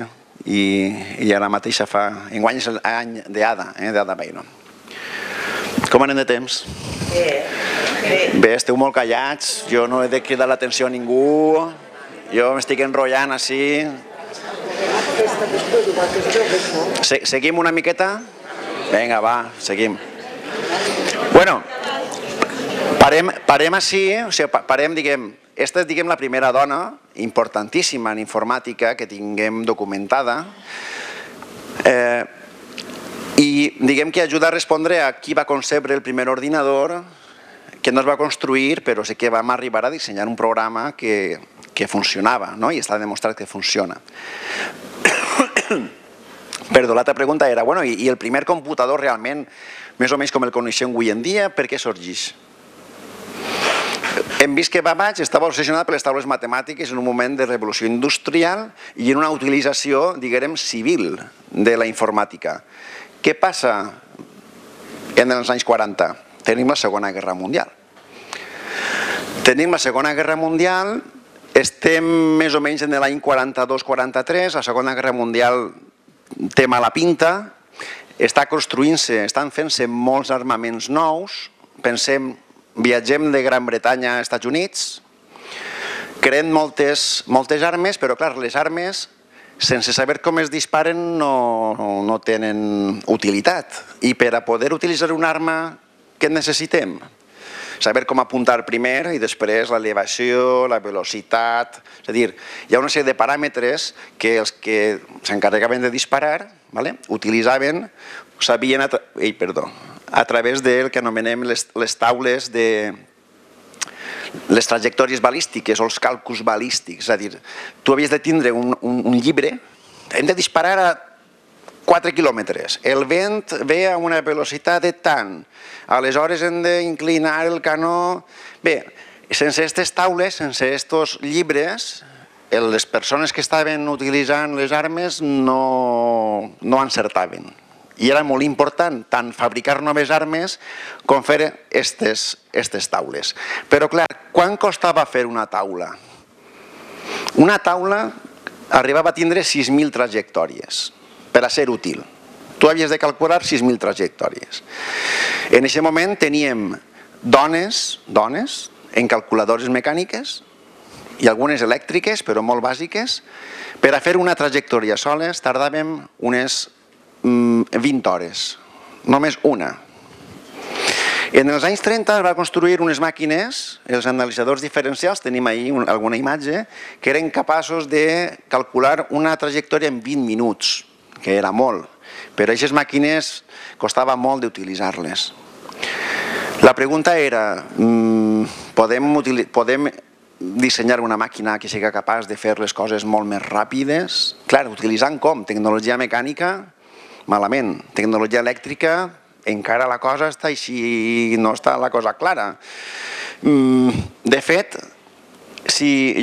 i ara mateix enguany és l'any d'Ada, d'Ada Byron. Com anem de temps? Bé, esteu molt callats, jo no he de cridar l'atenció a ningú, jo m'estic enrotllant així. Seguim una miqueta? Vinga, va, seguim. Bueno, parem així, parem, diguem, esta és la primera dona importantíssima en informàtica que tinguem documentada, i diguem que ajuda a respondre a qui va concebre el primer ordinador, que no es va construir, però sí que vam arribar a dissenyar un programa que funcionava, i està demostrat que funciona. Perdó, l'altra pregunta era, i el primer computador realment, més o menys com el coneixem avui en dia, per què sorgeix? Hem vist que Babbage estava obsessionat per les taules matemàtiques en un moment de revolució industrial i en una utilització, diguem, civil de la informàtica. Què passa en els anys 40? Tenim la Segona Guerra Mundial. Tenim la Segona Guerra Mundial, estem més o menys en l'any 42-43, la Segona Guerra Mundial té mala pinta, estan fent-se molts armaments nous, pensem, viatgem de Gran Bretanya a Estats Units, creen moltes armes, però clar, les armes sense saber com es disparen no tenen utilitat. I per a poder utilitzar una arma, què necessitem? Saber com apuntar primer i després l'elevació, la velocitat... És a dir, hi ha una sèrie de paràmetres que els que s'encarregaven de disparar utilitzaven, sabien a través del que anomenem les taules de les trajectòries balístiques o els càlculs balístics. És a dir, tu havies de tindre un llibre, hem de disparar a 4 quilòmetres, el vent ve a una velocitat de tant, aleshores hem d'inclinar el canó... Bé, sense aquestes taules, sense aquests llibres, les persones que estaven utilitzant les armes no encertaven. I era molt important tant fabricar noves armes com fer aquestes taules. Però clar, quant costava fer una taula? Una taula arribava a tindre 6.000 trajectòries per a ser útil. Tu havies de calcular 6.000 trajectòries. En aquest moment teníem dones en calculadores mecàniques i algunes elèctriques, però molt bàsiques. Per a fer una trajectòria soles tardàvem unes 20 hores, només una. En els anys 30 es va construir unes màquines, els analitzadors diferencials, tenim ahí alguna imatge, que eren capaços de calcular una trajectòria en 20 minuts, que era molt, però aquestes màquines costava molt d'utilitzar-les. La pregunta era, podem dissenyar una màquina que sigui capaç de fer les coses molt més ràpides? Clar, utilitzant com? Tecnologia mecànica? Malament. Tecnologia elèctrica, encara la cosa està així, no està la cosa clara. De fet,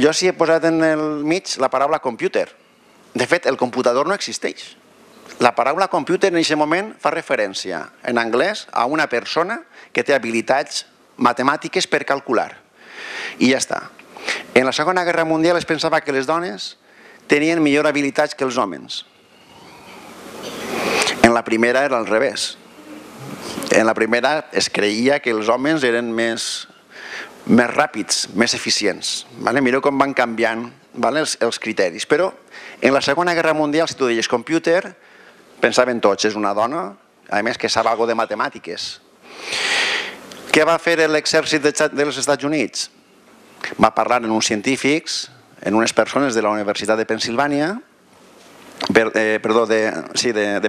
jo sí he posat en el mig la paraula computer. De fet, el computador no existeix. La paraula computer en aquest moment fa referència, en anglès, a una persona que té habilitats matemàtiques per calcular. I ja està. En la Segona Guerra Mundial es pensava que les dones tenien millor habilitats que els homes. En la primera era al revés. En la primera es creia que els homes eren més ràpids, més eficients. Mireu com van canviant els criteris. Però en la Segona Guerra Mundial, si tu deies computer, pensaven tots, és una dona, a més que sap alguna de matemàtiques. Què va fer l'exèrcit dels Estats Units? Va parlar amb uns científics, amb unes persones de la Universitat de Pennsilvània, de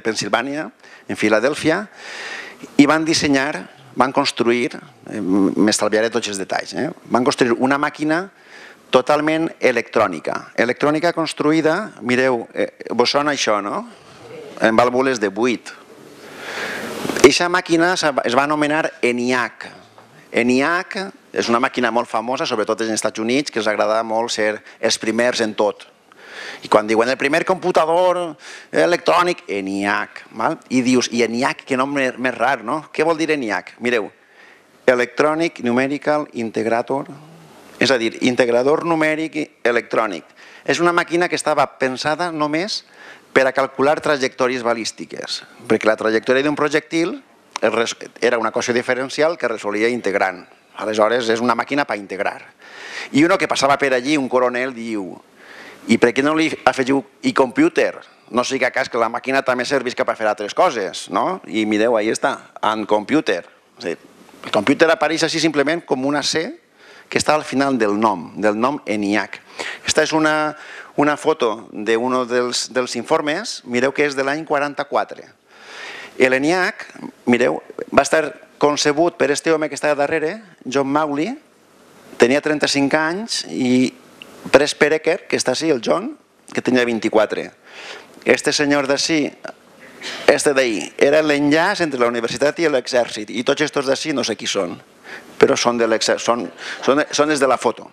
Pennsilvània, en Filadèlfia, i van dissenyar, van construir, m'estalviaré tots els detalls, van construir una màquina totalment electrònica. Electrònica construïda, mireu, vos sona això, no? En vàlvules de buit. Aquesta màquina es va anomenar ENIAC. ENIAC és una màquina molt famosa, sobretot als Estats Units, que els agrada molt ser els primers en tot. I quan diuen el primer computador electrònic, ENIAC. I dius, i ENIAC, que nom més rar, no? Què vol dir ENIAC? Mireu, Electronic Numerical Integrator, és a dir, integrador numèric electrònic. És una màquina que estava pensada només per a calcular trajectòries balístiques, perquè la trajectòria d'un projectil era una equació diferencial que resolia integrant. Aleshores, és una màquina per integrar. I uno que passava per allí, un coronel, diu: i per què no li afegiu e-computer? No sigui cas que la màquina també servisca per fer altres coses, no? I mireu, ahí està, en computer. El computer apareix així simplement com una C que està al final del nom ENIAC. Aquesta és una foto d'un dels informes, mireu que és de l'any 44. L'ENIAC, mireu, va estar concebut per este home que està darrere, John Mauldin, tenia 35 anys, i pres per Ecker, que està així, el John, que tenia 24. Este senyor d'ací, este d'ahí, era l'enllaç entre la universitat i l'exèrcit, i tots estos d'ací no sé qui són, però són els de la foto.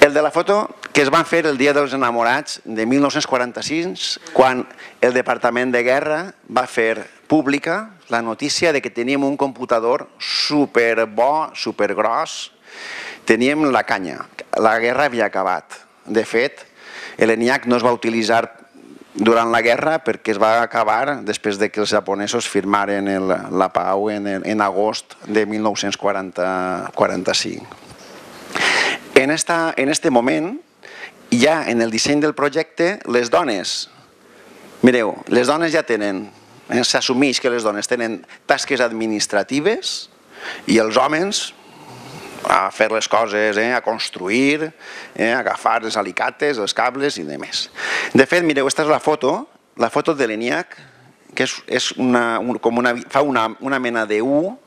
El de la foto que es van fer el Dia dels Enamorats de 1946, quan el Departament de Guerra va fer pública la notícia de que teníem un computador superbo, supergros, teníem la canya, la guerra havia acabat. De fet, l'ENIAC no es va utilitzar durant la guerra perquè es va acabar després que els japonesos firmaren la pau en agost de 1945. En aquest moment, ja en el disseny del projecte, les dones, mireu, les dones ja tenen, s'assumeix que les dones tenen tasques administratives i els homes a fer les coses, a construir, a agafar els alicates, els cables i demés. De fet, mireu, aquesta és la foto de l'ENIAC, que fa una mena de U.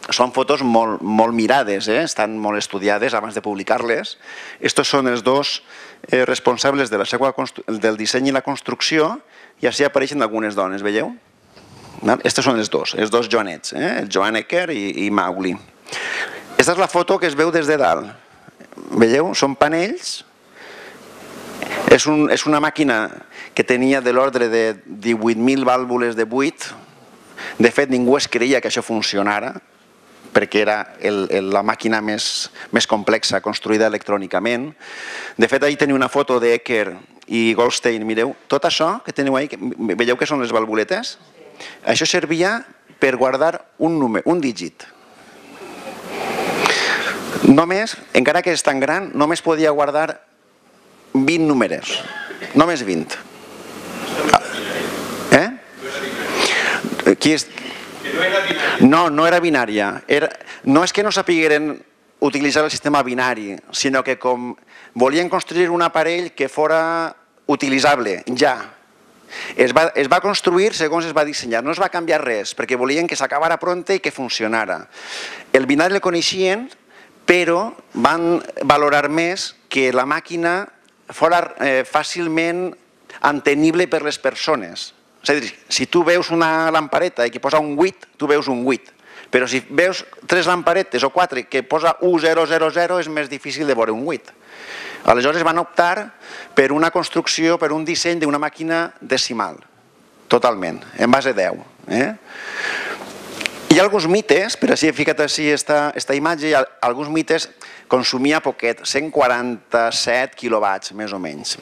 Són fotos molt mirades, estan molt estudiades abans de publicar-les. Estos són els dos responsables del disseny i la construcció, i així apareixen algunes dones, veieu? Estos són els dos Joanets, el Joan Ecker i Mauldin. Aquesta és la foto que es veu des de dalt. Veieu? Són panells. És una màquina que tenia de l'ordre de 18.000 vàlvules de buit. De fet, ningú es creia que això funcionara, perquè era la màquina més complexa construïda electrònicament. De fet, ahir teniu una foto d'Ecker i Goldstein. Mireu, tot això que teniu ahí, veieu que són les valvuletes? Això servia per guardar un dígit. Només, encara que és tan gran, només podia guardar 20 números. Només 20. No era binària. No és que no sapigueren utilitzar el sistema binari, sinó que com volien construir un aparell que fora utilitzable, ja. Es va construir segons es va dissenyar, no es va canviar res, perquè volien que s'acabara pronta i que funcionara. El binari el coneixien, però van valorar més que la màquina fora fàcilment entenible per les persones. És a dir, si tu veus una lampareta i que posa un 8, tu veus un 8. Però si veus 3 lamparetes o 4 que posa 1000, és més difícil de veure un 8. Aleshores van optar per una construcció, per un disseny d'una màquina decimal, totalment, en base 10. Hi ha alguns mites, per així he ficat així aquesta imatge, alguns mites consumia poquet, 147 quilowatts, més o menys.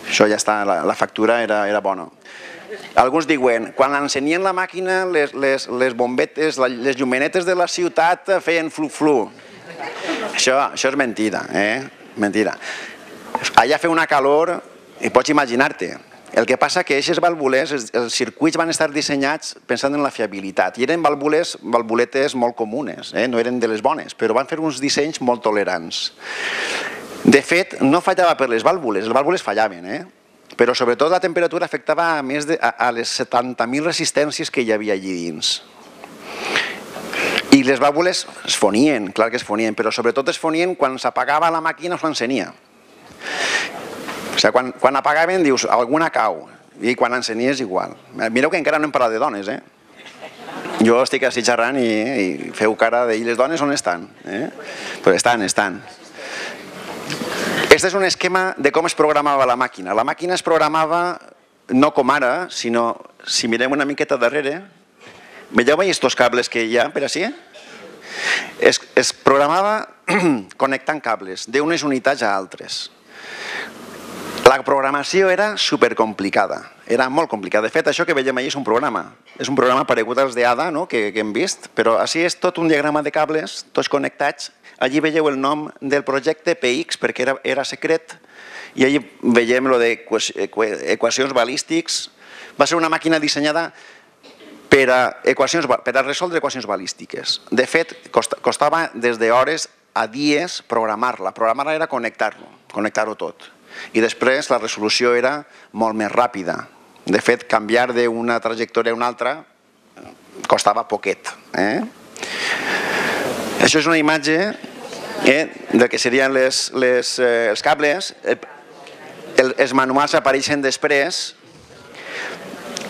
Això ja està, la factura era bona. Alguns diuen, quan encenien la màquina, les bombetes, les llumenetes de la ciutat feien flu-flu. Això és mentida, mentida. Allà feia una calor, i pots imaginar-te. El que passa que aquestes vàlvules, els circuits van estar dissenyats pensant en la fiabilitat, i eren valvuletes molt comunes, no eren de les bones, però van fer uns dissenys molt tolerants. De fet, no fallava per les vàlvules fallaven, però sobretot la temperatura afectava a les 70.000 resistències que hi havia allí dins. I les vàlvules es fonien, clar que es fonien, però sobretot es fonien quan s'apagava la màquina o s'encenia. O sigui, quan apagaven dius, alguna cau, i quan encenies igual. Mireu que encara no hem parlat de dones, Jo estic així xerrant i feu cara de... I les dones on estan? Però estan. Este és un esquema de com es programava la màquina. La màquina es programava no com ara, sinó, si mirem una miqueta darrere, veieu aquests cables que hi ha per així? Es programava connectant cables d'unes unitats a altres. La programació era supercomplicada, era molt complicada. De fet, això que veiem allà és un programa. És un programa paregut als d'ADA, que hem vist, però així és tot un diagrama de cables, tots connectats. Allí veieu el nom del projecte PX, perquè era secret, i allí veiem lo d'equacions balístics. Va ser una màquina dissenyada per a resoldre equacions balístiques. De fet, costava des d'hores a dies programar-la. Programar-la era connectar-ho tot. I després la resolució era molt més ràpida. De fet, canviar d'una trajectòria a una altra costava poquet. Això és una imatge del que serien els cables. Els manuals apareixen després.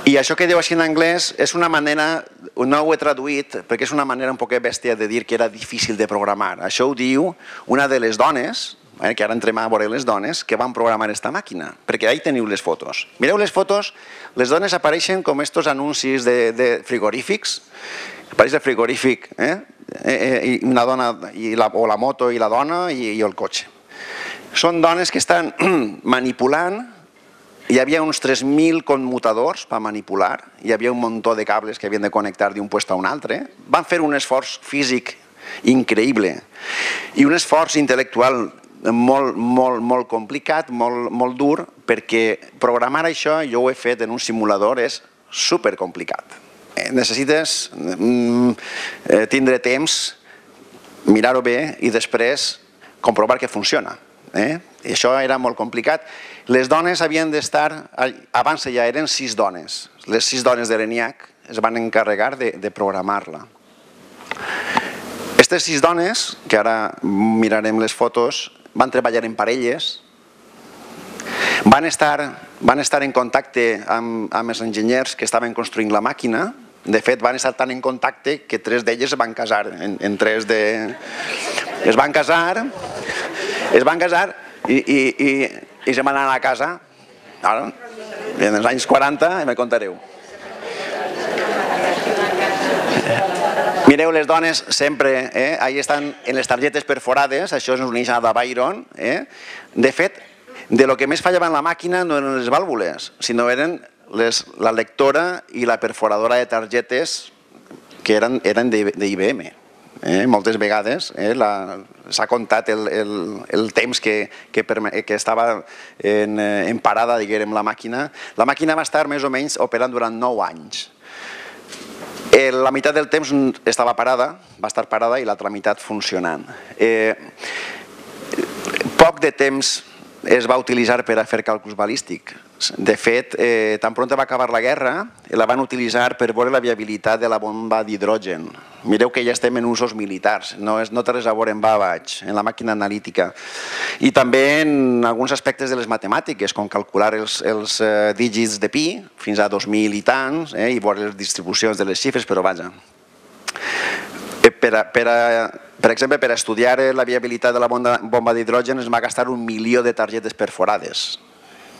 I això que diu així en anglès és una manera, no ho he traduït, perquè és una manera un poquet bèstia de dir que era difícil de programar. Això ho diu una de les dones, que ara entrem a veure les dones, que van programar aquesta màquina, perquè ahí teniu les fotos. Mireu les fotos, les dones apareixen com estos anuncis de frigorífics, apareix el frigorífic, una dona, o la moto i la dona i el cotxe. Són dones que estan manipulant. Hi havia uns 3.000 commutadors per manipular, hi havia un muntó de cables que havien de connectar d'un lloc a un altre. Van fer un esforç físic increïble i un esforç intel·lectual molt complicat, molt dur, perquè programar això, jo ho he fet en un simulador, és supercomplicat. Necessites tindre temps, mirar-ho bé i després comprovar que funciona. Això era molt complicat. Les dones havien d'estar, abans ja eren 6 dones, les 6 dones de l'ENIAC es van encarregar de programar-la. Aquestes 6 dones, que ara mirarem les fotos, van treballar en parelles, van estar en contacte amb els enginyers que estaven construint la màquina. De fet, van estar tan en contacte que 3 d'elles es van casar. Es van casar i se van anar a casa. Ara, en els anys 40, me contareu. Mireu les dones sempre, ahí estan en les targetes perforades, això és un original de Byron. De fet, de lo que més fallava en la màquina no eren les vàlvules, sinó eren la lectora i la perforadora de targetes que eren d'IBM. Moltes vegades s'ha comptat el temps que estava en parada, diguem, la màquina. La màquina va estar més o menys operant durant 9 anys. La meitat del temps estava parada, va estar parada, i l'altra meitat funcionant. Poc de temps es va utilitzar per a fer càlculs balístics. De fet, tan pront va acabar la guerra, la van utilitzar per veure la viabilitat de la bomba d'hidrogen. Mireu que ja estem en usos militars, no té res a veure en Babbage, en la màquina analítica. I també en alguns aspectes de les matemàtiques, com calcular els dígits de pi, fins a 2.000 i tants, i veure les distribucions de les xifres, però vaja. Per exemple, per estudiar la viabilitat de la bomba d'hidrogen es va gastar 1 milió de targetes perforades.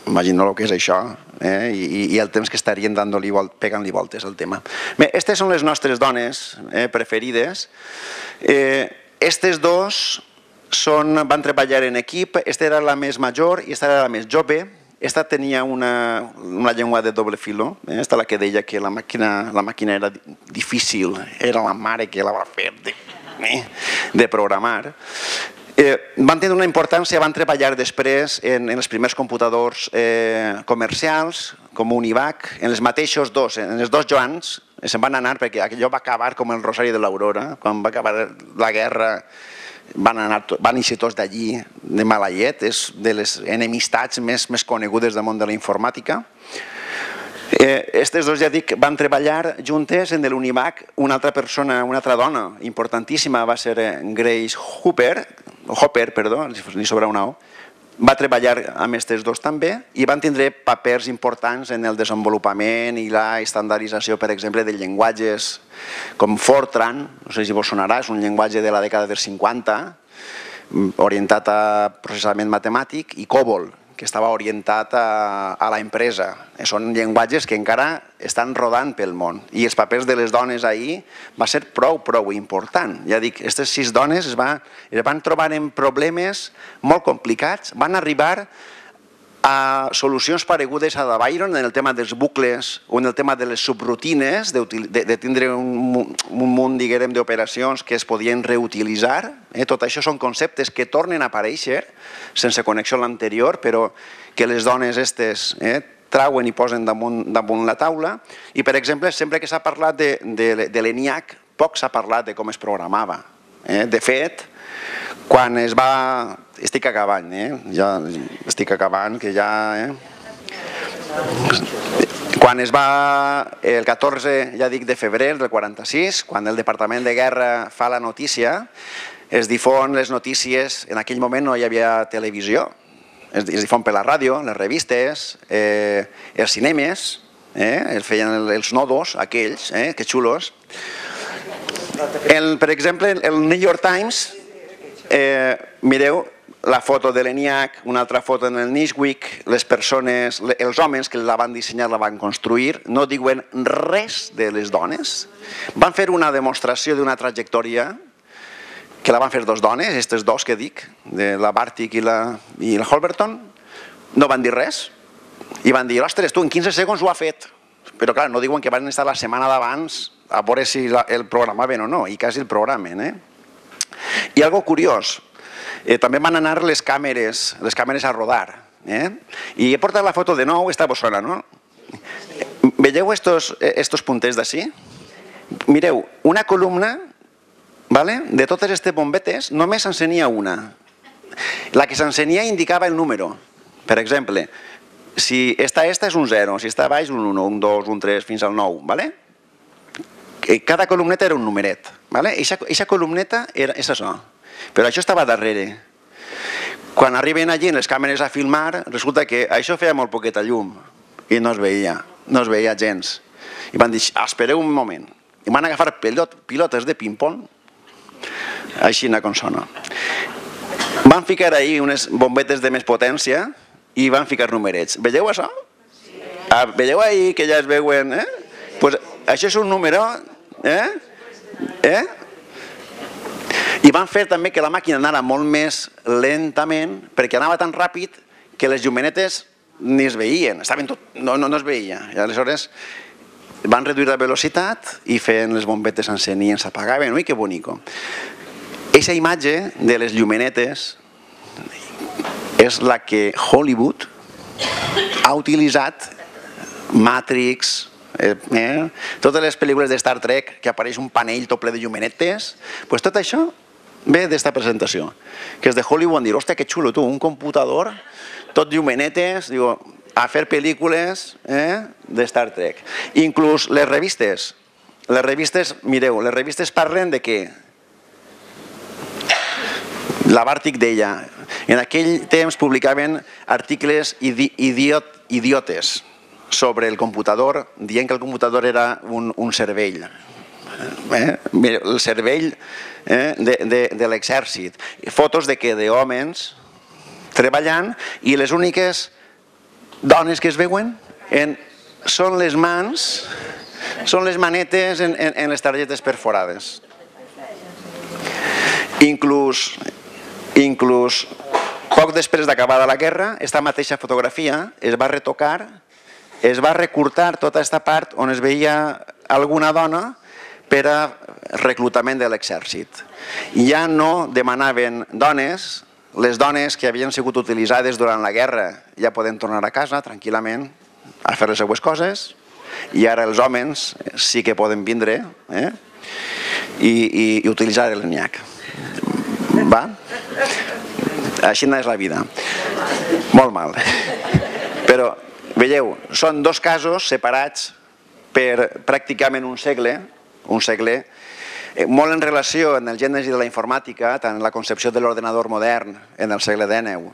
Imagineu el que és això, i el temps que estarien pegant-li voltes al tema. Bé, aquestes són les nostres dones preferides. Aquestes dos van treballar en equip, aquesta era la més major i aquesta era la més jove. Aquesta tenia una llengua de doble filo, aquesta la que deia que la màquina era difícil, era la mare que la va fer de programar. Van tenir una importància, van treballar després en els primers computadors comercials, com Univac, en els mateixos dos, en els 2 Joans, se'n van anar perquè allò va acabar com el Rosari de l'Aurora, quan va acabar la guerra van eixir tots d'allí de mala llet, és de les enemistats més conegudes del món de la informàtica. Aquestes dos, ja dic, van treballar juntes en l'Univac. Una altra persona, una altra dona importantíssima va ser Grace Hopper, li sobra una O, va treballar amb aquests dos també i van tindre papers importants en el desenvolupament i la estandardització, per exemple, de llenguatges com Fortran, no sé si vos sonarà, és un llenguatge de la dècada dels 50, orientat a processament matemàtic, i COBOL, que estava orientat a la empresa. Són llenguatges que encara estan rodant pel món. I els papers de les dones ahir va ser prou important. Ja dic, aquestes 6 dones es van trobar en problemes molt complicats, van arribar a solucions paregudes a la Byron en el tema dels bucles o en el tema de les subrutines, de tindre un munt, diguem, d'operacions que es podien reutilitzar. Tot això són conceptes que tornen a aparèixer sense connexió amb l'anterior, però que les dones aquestes trauen i posen damunt la taula. I, per exemple, sempre que s'ha parlat de l'ENIAC, poc s'ha parlat de com es programava. De fet, quan es va... Estic acabant, ja estic acabant, que ja... Quan es va, el 14, ja dic, de febrer del 46, quan el Departament de Guerra fa la notícia, es difon les notícies, en aquell moment no hi havia televisió, es difon per la ràdio, les revistes, els cinemes, es feien els nodos, aquells, que xulos. Per exemple, el New York Times, mireu, la foto de l'ENIAC, una altra foto en el Nishwick, les persones, els homes que la van dissenyar, la van construir, no diuen res de les dones. Van fer una demostració d'una trajectòria que la van fer 2 dones, aquestes 2 que dic, de la Bartik i la Holberton, no van dir res i van dir, ostres, tu en 15 segons ho ha fet. Però clar, no diuen que van estar la setmana d'abans a veure si el programaven o no, i quasi el programen. I algo curiós, també van anar les càmeres a rodar. I he portat la foto de nou, esta vos sona, no? Veieu estos punters d'ací? Mireu, una columna de totes aquestes bombetes només s'encenia una. La que s'encenia indicava el número. Per exemple, si esta és un 0, si està baix un 1, un 2, un 3, fins al 9. Cada columneta era un numeret. Eixa columneta és això. Però això estava darrere. Quan arriben allí les càmeres a filmar, resulta que això feia molt poqueta llum i no es veia gens. I van dir, espereu un moment. I van agafar pilotes de ping-pong, així com sona. Van ficar ahí unes bombetes de més potència i van ficar numerets. Veieu això? Veieu ahí que ja es veuen? Doncs això és un número, i van fer també que la màquina anara molt més lentament perquè anava tan ràpid que les llumenetes ni es veien, no es veia. I aleshores van reduir la velocitat i feien les bombetes s'encenien, s'apagaven. Ui, que bonico. Eixa imatge de les llumenetes és la que Hollywood ha utilitzat, Matrix, totes les pel·lícules de Star Trek que apareix un panell tot ple de llumenetes, doncs tot això ve d'esta presentació, que és de Hollywood. Dir, hòstia, que xulo, tu, un computador, tot llumenetes, a fer pel·lícules de Star Trek. Inclús les revistes, mireu, les revistes parlen de què? La Bartik deia, en aquell temps publicaven articles idiotes sobre el computador, dient que el computador era un cervell. El cervell de l'exèrcit. Fotos de d'homes treballant i les úniques dones que es veuen són les mans, són les manetes en les targetes perforades. Inclús poc després d'acabada la guerra, aquesta mateixa fotografia es va retocar, es va recurtar tota aquesta part on es veia alguna dona per a reclutament de l'exèrcit. Ja no demanaven dones, les dones que havien sigut utilitzades durant la guerra ja poden tornar a casa tranquil·lament a fer les seues coses, i ara els homes sí que poden vindre i utilitzar l'ENIAC. Així és la vida. Molt mal. Però, veieu, són 2 casos separats per pràcticament un segle, molt en relació amb el gènesi de la informàtica, tant en la concepció de l'ordenador modern en el segle XIX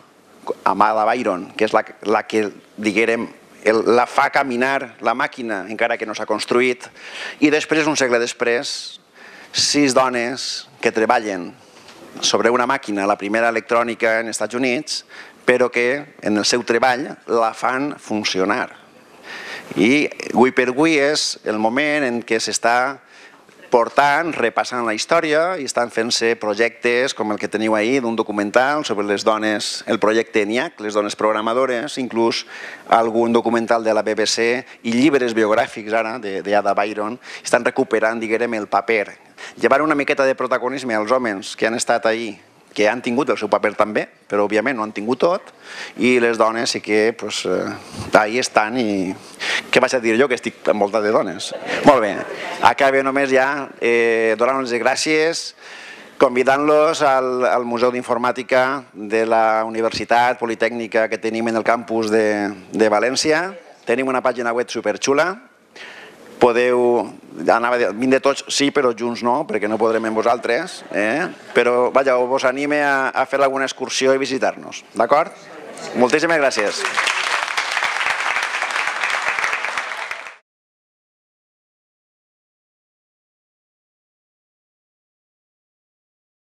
amb Ada Byron, que és la que, diguem, la fa caminar la màquina, encara que no s'ha construït, i després, un segle després, 6 dones que treballen sobre una màquina, la primera electrònica en Estats Units, però que en el seu treball la fan funcionar. I avui per avui és el moment en què s'està portant, repassant la història i estan fent-se projectes com el que teniu ahir d'un documental sobre les dones, el projecte ENIAC, les dones programadores, inclús algun documental de la BBC i llibres biogràfics ara d'Ada Byron, estan recuperant, diguem, el paper. Llevar una miqueta de protagonisme als homes que han estat ahir, que han tingut el seu paper també, però òbviament no han tingut tot, i les dones sí que ahí estan i... Què vaig a dir jo, que estic envoltat de dones? Molt bé, acabo només ja donant-los les gràcies, convidant-los al Museu d'Informàtica de la Universitat Politècnica que tenim en el campus de València. Tenim una pàgina web superxula. Podeu, anava a dir, vindre tots sí, però junts no, perquè no podrem amb vosaltres, però vaja, vos anime a fer alguna excursió i visitar-nos, d'acord? Moltíssimes gràcies.